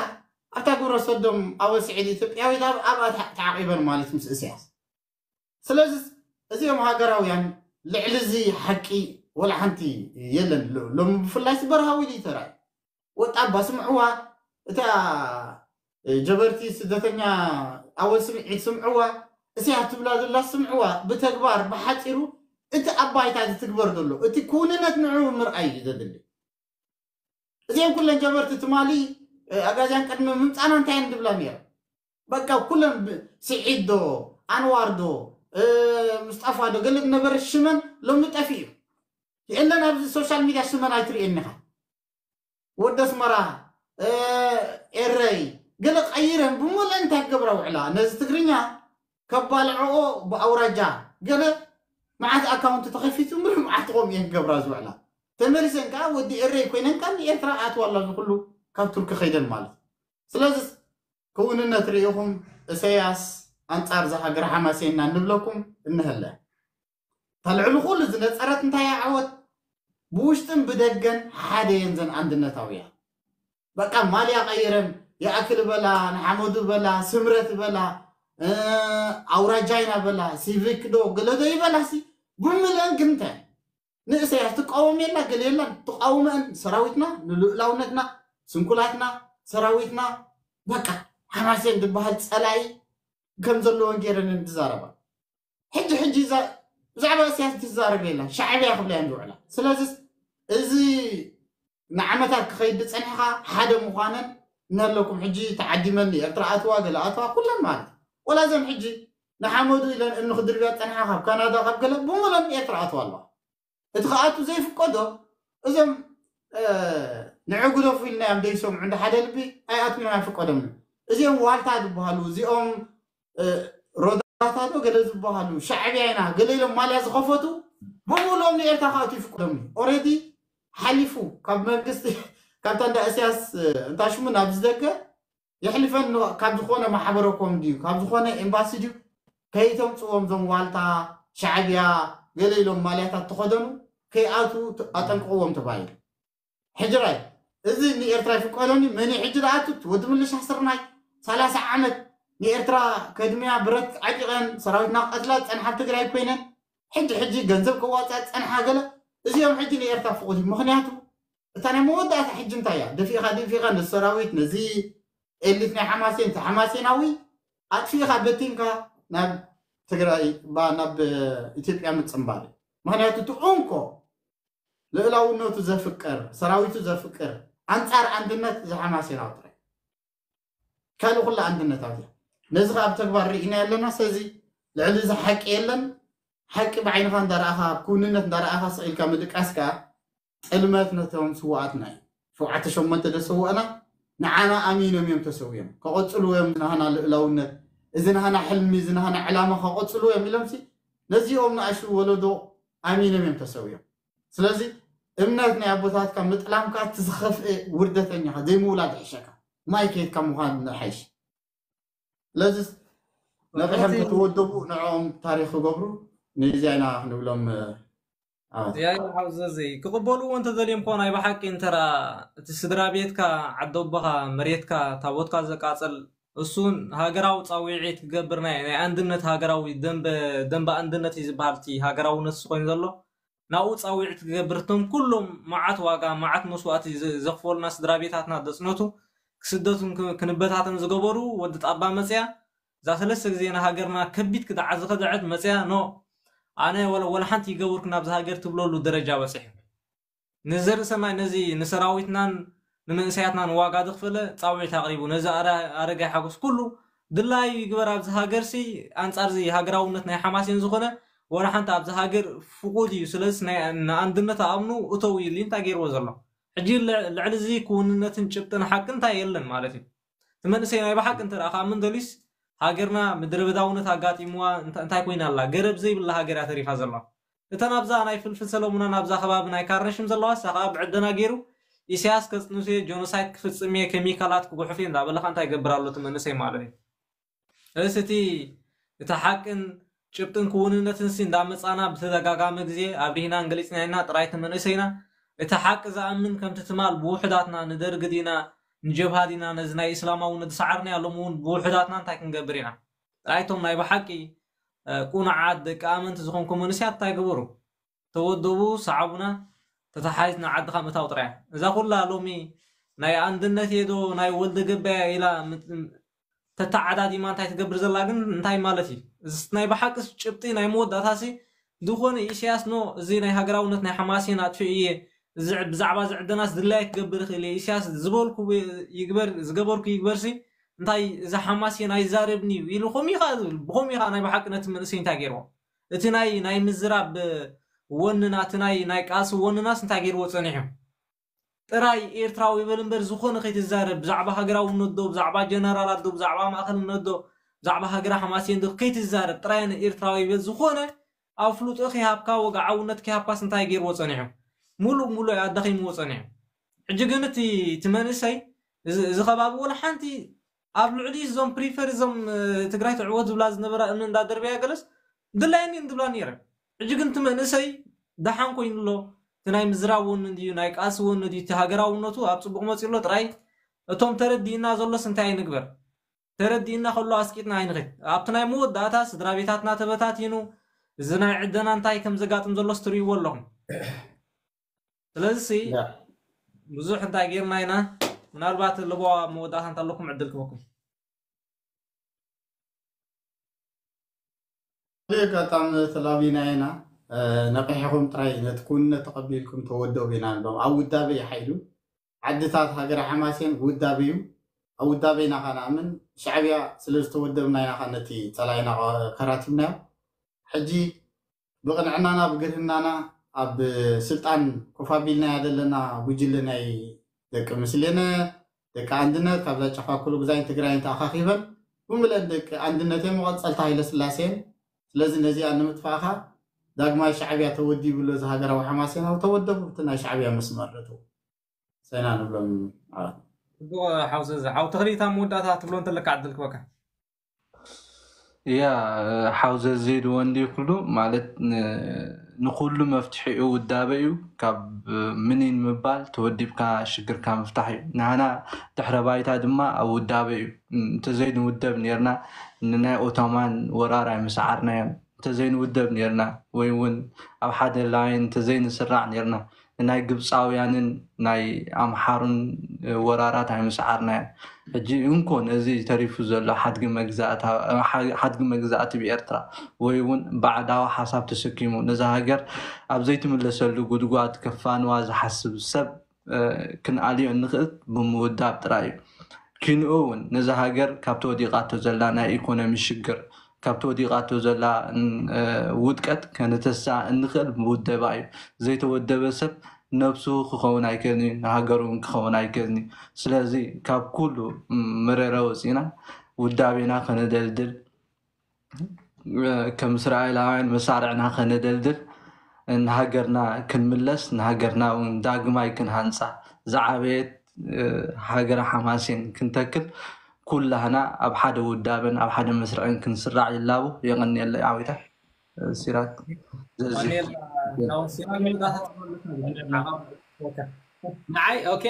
ኣብታ ግብረ ሰዶም ኣወል ስዒድ ኢትዮጵያዊት ኣብኣ ተዓቂበን ማለት ምስ እስያስ ስለዚ እዚኦም ሃገራውያን ልዕሊ እዚ ሓቂ ወላ ሓንቲ የለን ሎሚ ብፍላይ በረሃዊ ድዩ ተራእዩ ወጣባ ስምዕዋ እታ ጀበርቲ ስደተኛ ኣወል ስምዒት ስምዕዋ እስያ ትብላ ዘላ ስምዕዋ ብተግባር ብሓፂሩ እቲ ኣብ ባይታ ዝትግበር ዘሎ እቲ ክውንነት ንዑ ምርኣይ እዩ ዘድሊ እዚአን ኩለን ጀበርቲ ትማሊ ኣጋዚያን ቅድሚ ምምፃና እንታይ እየን ዝብላ ነይረን በቃ ኩለን ስዒድ ዶ ኣንዋር ዶ ምስጣፋ ዶ ገለ ዝነበረ ሽመን ሎሚ ጠፊኡ የለን ኣብዚ ሶሻል ሚድያ ሽመን ኣይትርእየኒ ኢኻ ወዲ ኣስመራ ኤረይ ገለ ቀይረን ብምልአን እንታይ ክገብራ ውዕላ ነዚ ትግርኛ ከባልዐኦ ብኣውራጃ ገለ መዓት ኣካውንቲ ተኸፊቱ ምሉእ መዓት ትኾም እየን ክገብራ ዝውዕላ ተመሊሰን ከዓ ወዲ ኤረይ ኮይነን ካብ ንኤርትራ ኣትዋ ኣላ ዝኩሉ ካብ ቱርኪ ከይደን ማለት ስለዚ ክውንነት ርኢኹም እሰያስ ኣንጻር እዛ ሃገር ሓማሴና ንብለኩም እንሀለ እታ ልዕሊ ኩሉ ዝነጸረት እንታይ እያ ዓወት ብውሽጥን ብደገን ሓደ እየን ዘን ኣንድነታውያን በቃ ማልያ ቀይረን ይኣክል በላ ንሓመዱ በላ ስምረት በላ ኣውራጃይና በላ ሲቪክ ዶ ገለዶ ይበላሲ ብምልአን ግን እንታይ ንእሰያስ ትቃወም የላ ገለ የላን ትቃወመን ሰራዊትና ንልኡላውነትና ስንኩላትና ሰራዊትና በቃ ሓማሴን ዝበሃል ፀላኢ ከም ዘለዎን ገይረን ዝዛረባ ሕጂ ሕጂ ብዛዕባ እስያስ ትዛረብ የላን ሻዕብያ ክብላ እየን ዝውዕላ ስለዚ እዚ ንዓመታት ክኸይድ ዝጸንሕኻ ሓደ ምዃነን እናለኩም፣ ሕጂ ተዓዲመን ንኤርትራ ኣትዋ፣ ገለ ኣትዋ፣ ኩለን ማለት እዩ። ወላ እዘን ሕጂ ንሓመዱ ኢለን እምኒ ክድርብያ ዝጸንሓ ካብ ካናዳ፣ ካብ ገለ ብምሉኣን ኤርትራ ኣትዋ ኣለዋ። እቲ ክኣቱ ዘይፍቀዶ እዞም ንዕጉደፉ ኢልናዮም ዘይሰምዑ እንደ ሓደ ልቢ ኣይኣትዊን ኣይፍቀዶምን። እዚኦም ዋልታ ዝበሃሉ፣ እዚኦም ሮዳታዶ ገለ ዝበሃሉ፣ ሻዕብያ ኢና ገለ ኢሎም ማልያ ዝኸፈቱ ብምሉኦም ንኤርትራ ክኣቱ ይፍቀዶም እዩ። ኦሬዲ ሓሊፉ ካብ መንግስቲ ካብታ እንዳ እስያስ እንታሽሙ ናብ ዝደገ የሕልፈን ካብ ዝኾነ ማሕበረ ኮም ድዩ ካብ ዝኾነ ኤምባሲ ድዩ ከይተምፅዎም ዞም ዋልታ ሻዕብያ ገለ ኢሎም ማልያታት ተኸደኑ ከይኣቱ ኣጠንቅቕዎም ተባሂሉ። ሕጅራይ እዚ ንኤርትራ ይፍቀደኒ መን ሕጂ ዝኣቱ ወዲ ምልሻ ስርናይ ሰላሳ ዓመት ንኤርትራ ከድምያ ብረት ዓጢቐን ሰራዊትና ቀትላ ዝፀንሓ ትግራይ ኮይነን ሕጂ ሕጂ ገንዘብ ከዋፃ ዝፀንሓ ገለ እዚኦም ሕጂ ንኤርትራ ፍቁድ እዩ። ምክንያቱ እታ ናይ መወዳእታ ሕጂ እንታይ እያ? ደፊእካ ደፊእካ ነዚ ሰራዊት ነዚ ኤሊት ናይ ሓማሴን እቲ ሓማሴናዊ ኣጥፊእካ በቲንካ ናብ ትግራይ ናብ ኢትዮጵያ ምፅምባር እዩ። ምክንያቱ እቲ እንኮ ልእላውነቱ ዘፍቅር ሰራዊቱ ዘፍቅር ኣንፃር ኣንድነት እዚ ሓማሴናዊ ጥራይ ካልእ ኩላ ኣንድነት ኣብዚኣ ነዚ ከዓ ብተግባር ርኢና ኣለና። ስለዚ ልዕሊ እዚ ሓቂ የለን። ሓቂ ብዓይንኻ እንዳረኣኻ ኣብ ክውንነት እንዳረኣኻ ስቕ ኢልካ ምድቃስ ከዓ ጥልመት ነቶም ስውኣትና እዩ። ሸውዓተ ሸሞንተ ደሰውእና ንዓና ኣሚኖም እዮም ተሰውዮም ከቐፅሉ እዮም ናህና ልእላውነት እዚ ናህና ሕልሚ እዚ ናህና ዕላማ ከቐፅሉ እዮም ኢሎም ሲ ነዚኦም ንኣሹ ወለዶ ኣሚኖም እዮም ተሰውዮም። ስለዚ እምነት ናይ ኣቦታትካ ምጥላምካ እቲ ዝኸፍአ ውርደተኛኻ ዘይምውላድ ይሕሸካ ማይ ከየትካ ምዃን ንሓይሽ። ስለዚ ነቕሕም ከተወደቡ ንዕኦም ታሪክ ክገብሩ ንዚያ ኢና ክንብሎም። ያይ ሓውዘዘይ ክቕበልዎ እንተዘልዮም ኮ ናይ ብሓቂ እንተራ እቲ ስድራ ቤትካ ዓደቦኻ መሬትካ ታቦትካ ዘቃፀል እሱን ሃገራዊ ፃዊዒት ክገብር ናይ ናይ ኣንድነት ሃገራዊ ደንበ ደንበ ኣንድነት እዩ ዝበሃል እቲ ሃገራውነት ኮይኑ ዘሎ ናብኡ ፃዊዒት ክገብር እቶም ኩሎም መዓት ዋጋ መዓት መስዋእቲ ዘኽፈሉና ስድራ ቤታትና ደፅነቱ ክስደቱን ክንበታተን ዝገበሩ ወዲ ጣባ መፅያ እዛ ሰለስተ ግዜ ንሃገርና ከቢድ ክድዓት ዝኸደዐት መፅያ ኖ ኣነ ወላ ሓንቲ ይገብርኩ ናብዚ ሃገር ትብለሉ ደረጃ በፂሑ ንዘርኢ ሰማይ ነዚ ንሰራዊትናን ንመንእሰያትናን ዋጋ ዘኽፈለ ፃውዒት ኣቕሪቡ ነዚ ኣረጋይ ሓጎስ ኩሉ ድላዩ ይግበር ኣብዚ ሃገርሲ ኣንፃርዚ ሃገራውነት ናይ ሓማሴን ዝኾነ ወላ ሓንቲ ኣብዚ ሃገር ፍቁድ እዩ ስለዚ ንኣንድነት ኣእምኑ እተው ኢሉ እንታይ ገይርዎ ዘሎ ሕጂ ልዕሊ እዚ ክውንነትን ጭብጥን ሓቂ እንታይ የለን ማለት እዩ እቲ መንእሰይ ናይ ብሓቂ እንተ ከዓ ምን ደሊስ ሃገርና ምድረ በዳውነት ኣጋጢምዋ እንታይ ኮይና ኣላ ገረብ ዘይብላ ሃገር እያ ተሪፋ ዘላ እተን ኣብዛ ናይ ፍልፍል ሰለሙና ናብዛ ከባቢ ናይ ካርነሽም ዘለዋ እሳ ከዓ ብዕደና ገይሩ ኢሳያስ ከፅንሱ እየ ጆኖሳይድ ክፍፅም እየ ኬሚካላት ክጉሕፍ እየ እንዳበለካ እንታይ ይገብር ኣሎ እቲ መንእሰይ ማለት እዩ እስ እቲ እቲ ሓቅን ጭብጥን ክውንነትን ሲ እንዳመፃና ብተደጋጋሚ ግዜ ኣብሪህናን ገሊፅና ኢና ጥራይ እቲ መንእሰይና እቲ ሓቂ ዝኣምን ከምቲ ትማል ብውሕዳትና ንደርግ ዲና ንጀብሃ ዲና ነዚ ናይ እስላማዊ ንድሰዓርና ሎም እውን ብውሕዳትና እንታይ ክንገብር ኢና ጥራይቶም ናይ ብሓቂ ቁኑዓት ደቂ ኣመንቲ ዝኾንኩም መንእሰያት እንታይ ግበሩ ተወደቡ ሰዓቡና ተተሓሒዝና ዓድኻ ምእታው ጥራይ እዛ ኩላ ሎሚ ናይ ኣንድነት የዶ ናይ ወልደ ገበያ ኢላ ተተዓዳዲማ እንታይ ትገብር ዘላ ግን እንታይ ማለት እዩ እዚ ናይ ብሓቂ ጭብጢ ናይ መወዳእታሲ ዝኾነ ኢሳያስ ኖ እዚ ናይ ሃገራውነት ናይ ሓማሴን ኣጥፊኡ እየ ብዛዕባ ዝዕደናስ ድላይ ክገብር ይኽእል እየ ኢሳያስ ዝበልኩ ይግበር ዝገበርኩ ይግበርሲ እንታይ እዚ ሓማሴን ኣይዛረብን እዩ ኢሉ ከምኡ ኢኻ ዝብል ብኸምኡ ኢኻ ናይ ብሓቂ ነቲ መንእሰይ እንታይ ገይርዎ እቲ ናይ ናይ ምዝራብ ወንና እቲ ናይ ናይ ቃልሲ ወንናስ እንታይ ገይርዎ ፀኒሑ ጥራይ ኤርትራዊ ይበል እምበር ዝኾነ ከይትዛረብ ብዛዕባ ሃገራውነት ዶ ብዛዕባ ጀነራላት ዶ ብዛዕባ ማእኸልነት ዶ ብዛዕባ ሃገረ ሓማሴን ዶ ከይትዛረብ ጥራይ ኣነ ኤርትራዊ ይበል ዝኾነ ኣፍልጦ ከይሃብካ ወግዓውነት ከይሃብካስ እንታይ ገይርዎ ፀኒሑ ሙሉእ ሙሉእ ኣዳኺምዎ ፀኒሑ ሕጂ ግን እቲ እቲ መንእሰይ እዚ ከባቢ ወላ ሓንቲ ኣብ ልዕሊ እዞም ፕሪፈር እዞም ትግራይ ትዕወት ዝብላ ዝነበራ እምኒ እንዳደርበያ ገለስ ድላየኒ ዝብላ ነይረ ሕጂ ግን እቲ መንእሰይ ደሓን ኮይኑ ኣሎ እቲ ናይ ምዝራብ ወኒ እንድዩ ናይ ቃልሲ ወኒ ድዩ እቲ ሃገራውነቱ ኣብ ፅቡቅ መፂኡ ኣሎ ጥራይ እቶም ተረዲእና ዘሎስ እንታይ ንግበር ተረዲእና ከሎ ኣስቂጥና ኣይንኽድ ኣብቲ ናይ መወዳእታ ስድራ ቤታትና ተበታቲኑ እዚ ናይ ዕደና እንታይ ከም ዘጋጥም ዘሎስ ትርእይዎ ኣለኹም ስለዚ ብዙሕ እንታይ ጌርና ኢና ምናልባት ለቦዋ መወዳእታ እንተለኩም ዕድል ክበኩም ኣጋጣሚ ተላቢና ኢና ነቂሕኹም ጥራይ ነቲ ክውንነት ተቐቢልኩም ተወደቡ ኢና ንብሎም ኣብ ውዳበ ይሓይሉ ዓድታት ሃገረ ሓማሴን ውዳበ እዩ። ኣብ ውዳበ ኢና ኸ ንኣምን። ሻዕብያ ስለ ዝተወደብና ኢና ኸ ነቲ ጸላኢና ከራቲብናዮ። ሕጂ ብቕንዕናና ብግርህናና ኣብ ስልጣን ኮፍ ኣቢልናያ ዘለና ጉጅለ ናይ ደቂ ምስሌነ፣ ደቂ ኣንድነት፣ ካብዛ ጨፋ ኩሉ ግዛይን ትግራይን ተኣኻኺበን ብሙለን ደቂ ኣንድነትን መቐጸልታ ሃይለስላሴን። ስለዚ ነዚኣ ንምጥፋእኻ ዳግማይ ሻዕብያ ተወዲቡ ኣሎ። እዚ ሃገራዊ ሓማሴናዊ ተወደቡ፣ እቲ ናይ ሻዕብያ መስመር ረተው ሰይና ንብሎም። ጽቡቕ ሓው ዘዘ ሓው ተኽሊታ መወዳእታ ትብሎ እንተለካ ዕድል ክበካ። ያ ሓው ዘዘ ኢልዎ እንዲ ኩሉ ማለት ን- ንኩሉ መፍትሒኡ ውዳበ እዩ። ካብ ምኒን ምባል ተወዲብካ ሽግርካ ምፍታሕ እዩ። ንሃና ድሕረ ባይታ ድማ ኣብ ውዳበ እዩ። እንተዘይንውደብ ነርና ንናይ ኦቶማን ወራር ኣይምሰዓርናዮን። እንተዘይንውደብ ነርና ወይ እውን ኣብ ሓደ ላይን እንተዘይንስራዕ ነርና ንናይ ግብፃውያንን ናይ ኣምሓሩን ወራራት ኣይምሰዓርናዮን። ሕጂ እንኮ ነዚ ተሪፉ ዘሎ ሓድጊ መግዛእቲ ብኤርትራ ወይ እውን ባዕዳዊ ሓሳብ ተሰኪሙ ነዛ ሃገር ኣብ ዘይትምለሰሉ ጉድጓድ ከፋንዋ ዝሓስብ ሰብ ክንኣልዮ እንኽእል ብምውዳብ ጥራይ እዩ። ኪንኡ እውን ነዛ ሃገር ካብቲ ወዲቓቶ ዘላ ናይ ኢኮኖሚ ሽግር ካብቲ ወዲቓቶ ዘላ ውድቀት ከነተስኣ እንኽእል ብውደባ እዩ። ዘይተወደበ ሰብ ነብሱ ክኸውን ኣይክእልን እዩ፣ ንሃገሩ እውን ክኸውን ኣይክእልን እዩ። ስለዚ ካብ ኩሉ መረረ ወፂና ውዳቤና ከነደልድል ከም እስራኤላውያን መሳርዕና ከነደልድል ንሃገርና ክንምለስ ንሃገርና እውን ዳግማይ ክንሃንፃ ዝዓበየት ሃገረ ሓማሴን ክንተክል ኩላህና ኣብ ሓደ ውዳበን ኣብ ሓደ መስርዕን ክንስራዕ ይላቡ። የቐንየለይ ዓዊታ ሲራክ ንዓይ ኦኬ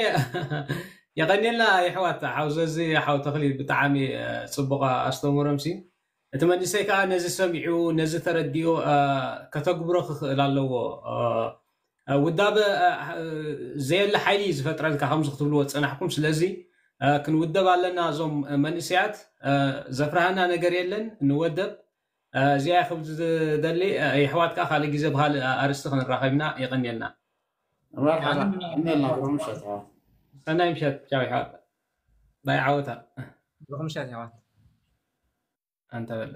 የቐንየልና። የሕዋት ሓው ዘዚ ሓው ተኽሊ ብጣዕሚ ፅቡቕ ኣስተምህሮም ሲ እቲ መንእሰይ ከዓ ነዚ ሰሚዑ ነዚ ተረዲኡ ከተግብሮ ክኽእል ኣለዎ። ውዳበ ዘየለ ሓይሊ እዩ ዝፈጥረልካ ከምዚ ክትብልዎ ዝፀናሕኩም። ስለዚ ክንውደብ ኣለና። እዞም መንእሰያት ዘፍርሃና ነገር የለን፣ ንወደብ። እዚኣ ክብል ዝደሊ። የሕዋት ከዓ ካልእ ግዜ ብካልእ ኣርስቲ ክንራኸብና። የቐንየልና። ሰናይ ምሸት ቻው የሕዋት። ባይ ዓወታ። ብሩኽ ምሸት የሕዋት። ኣንተ በለ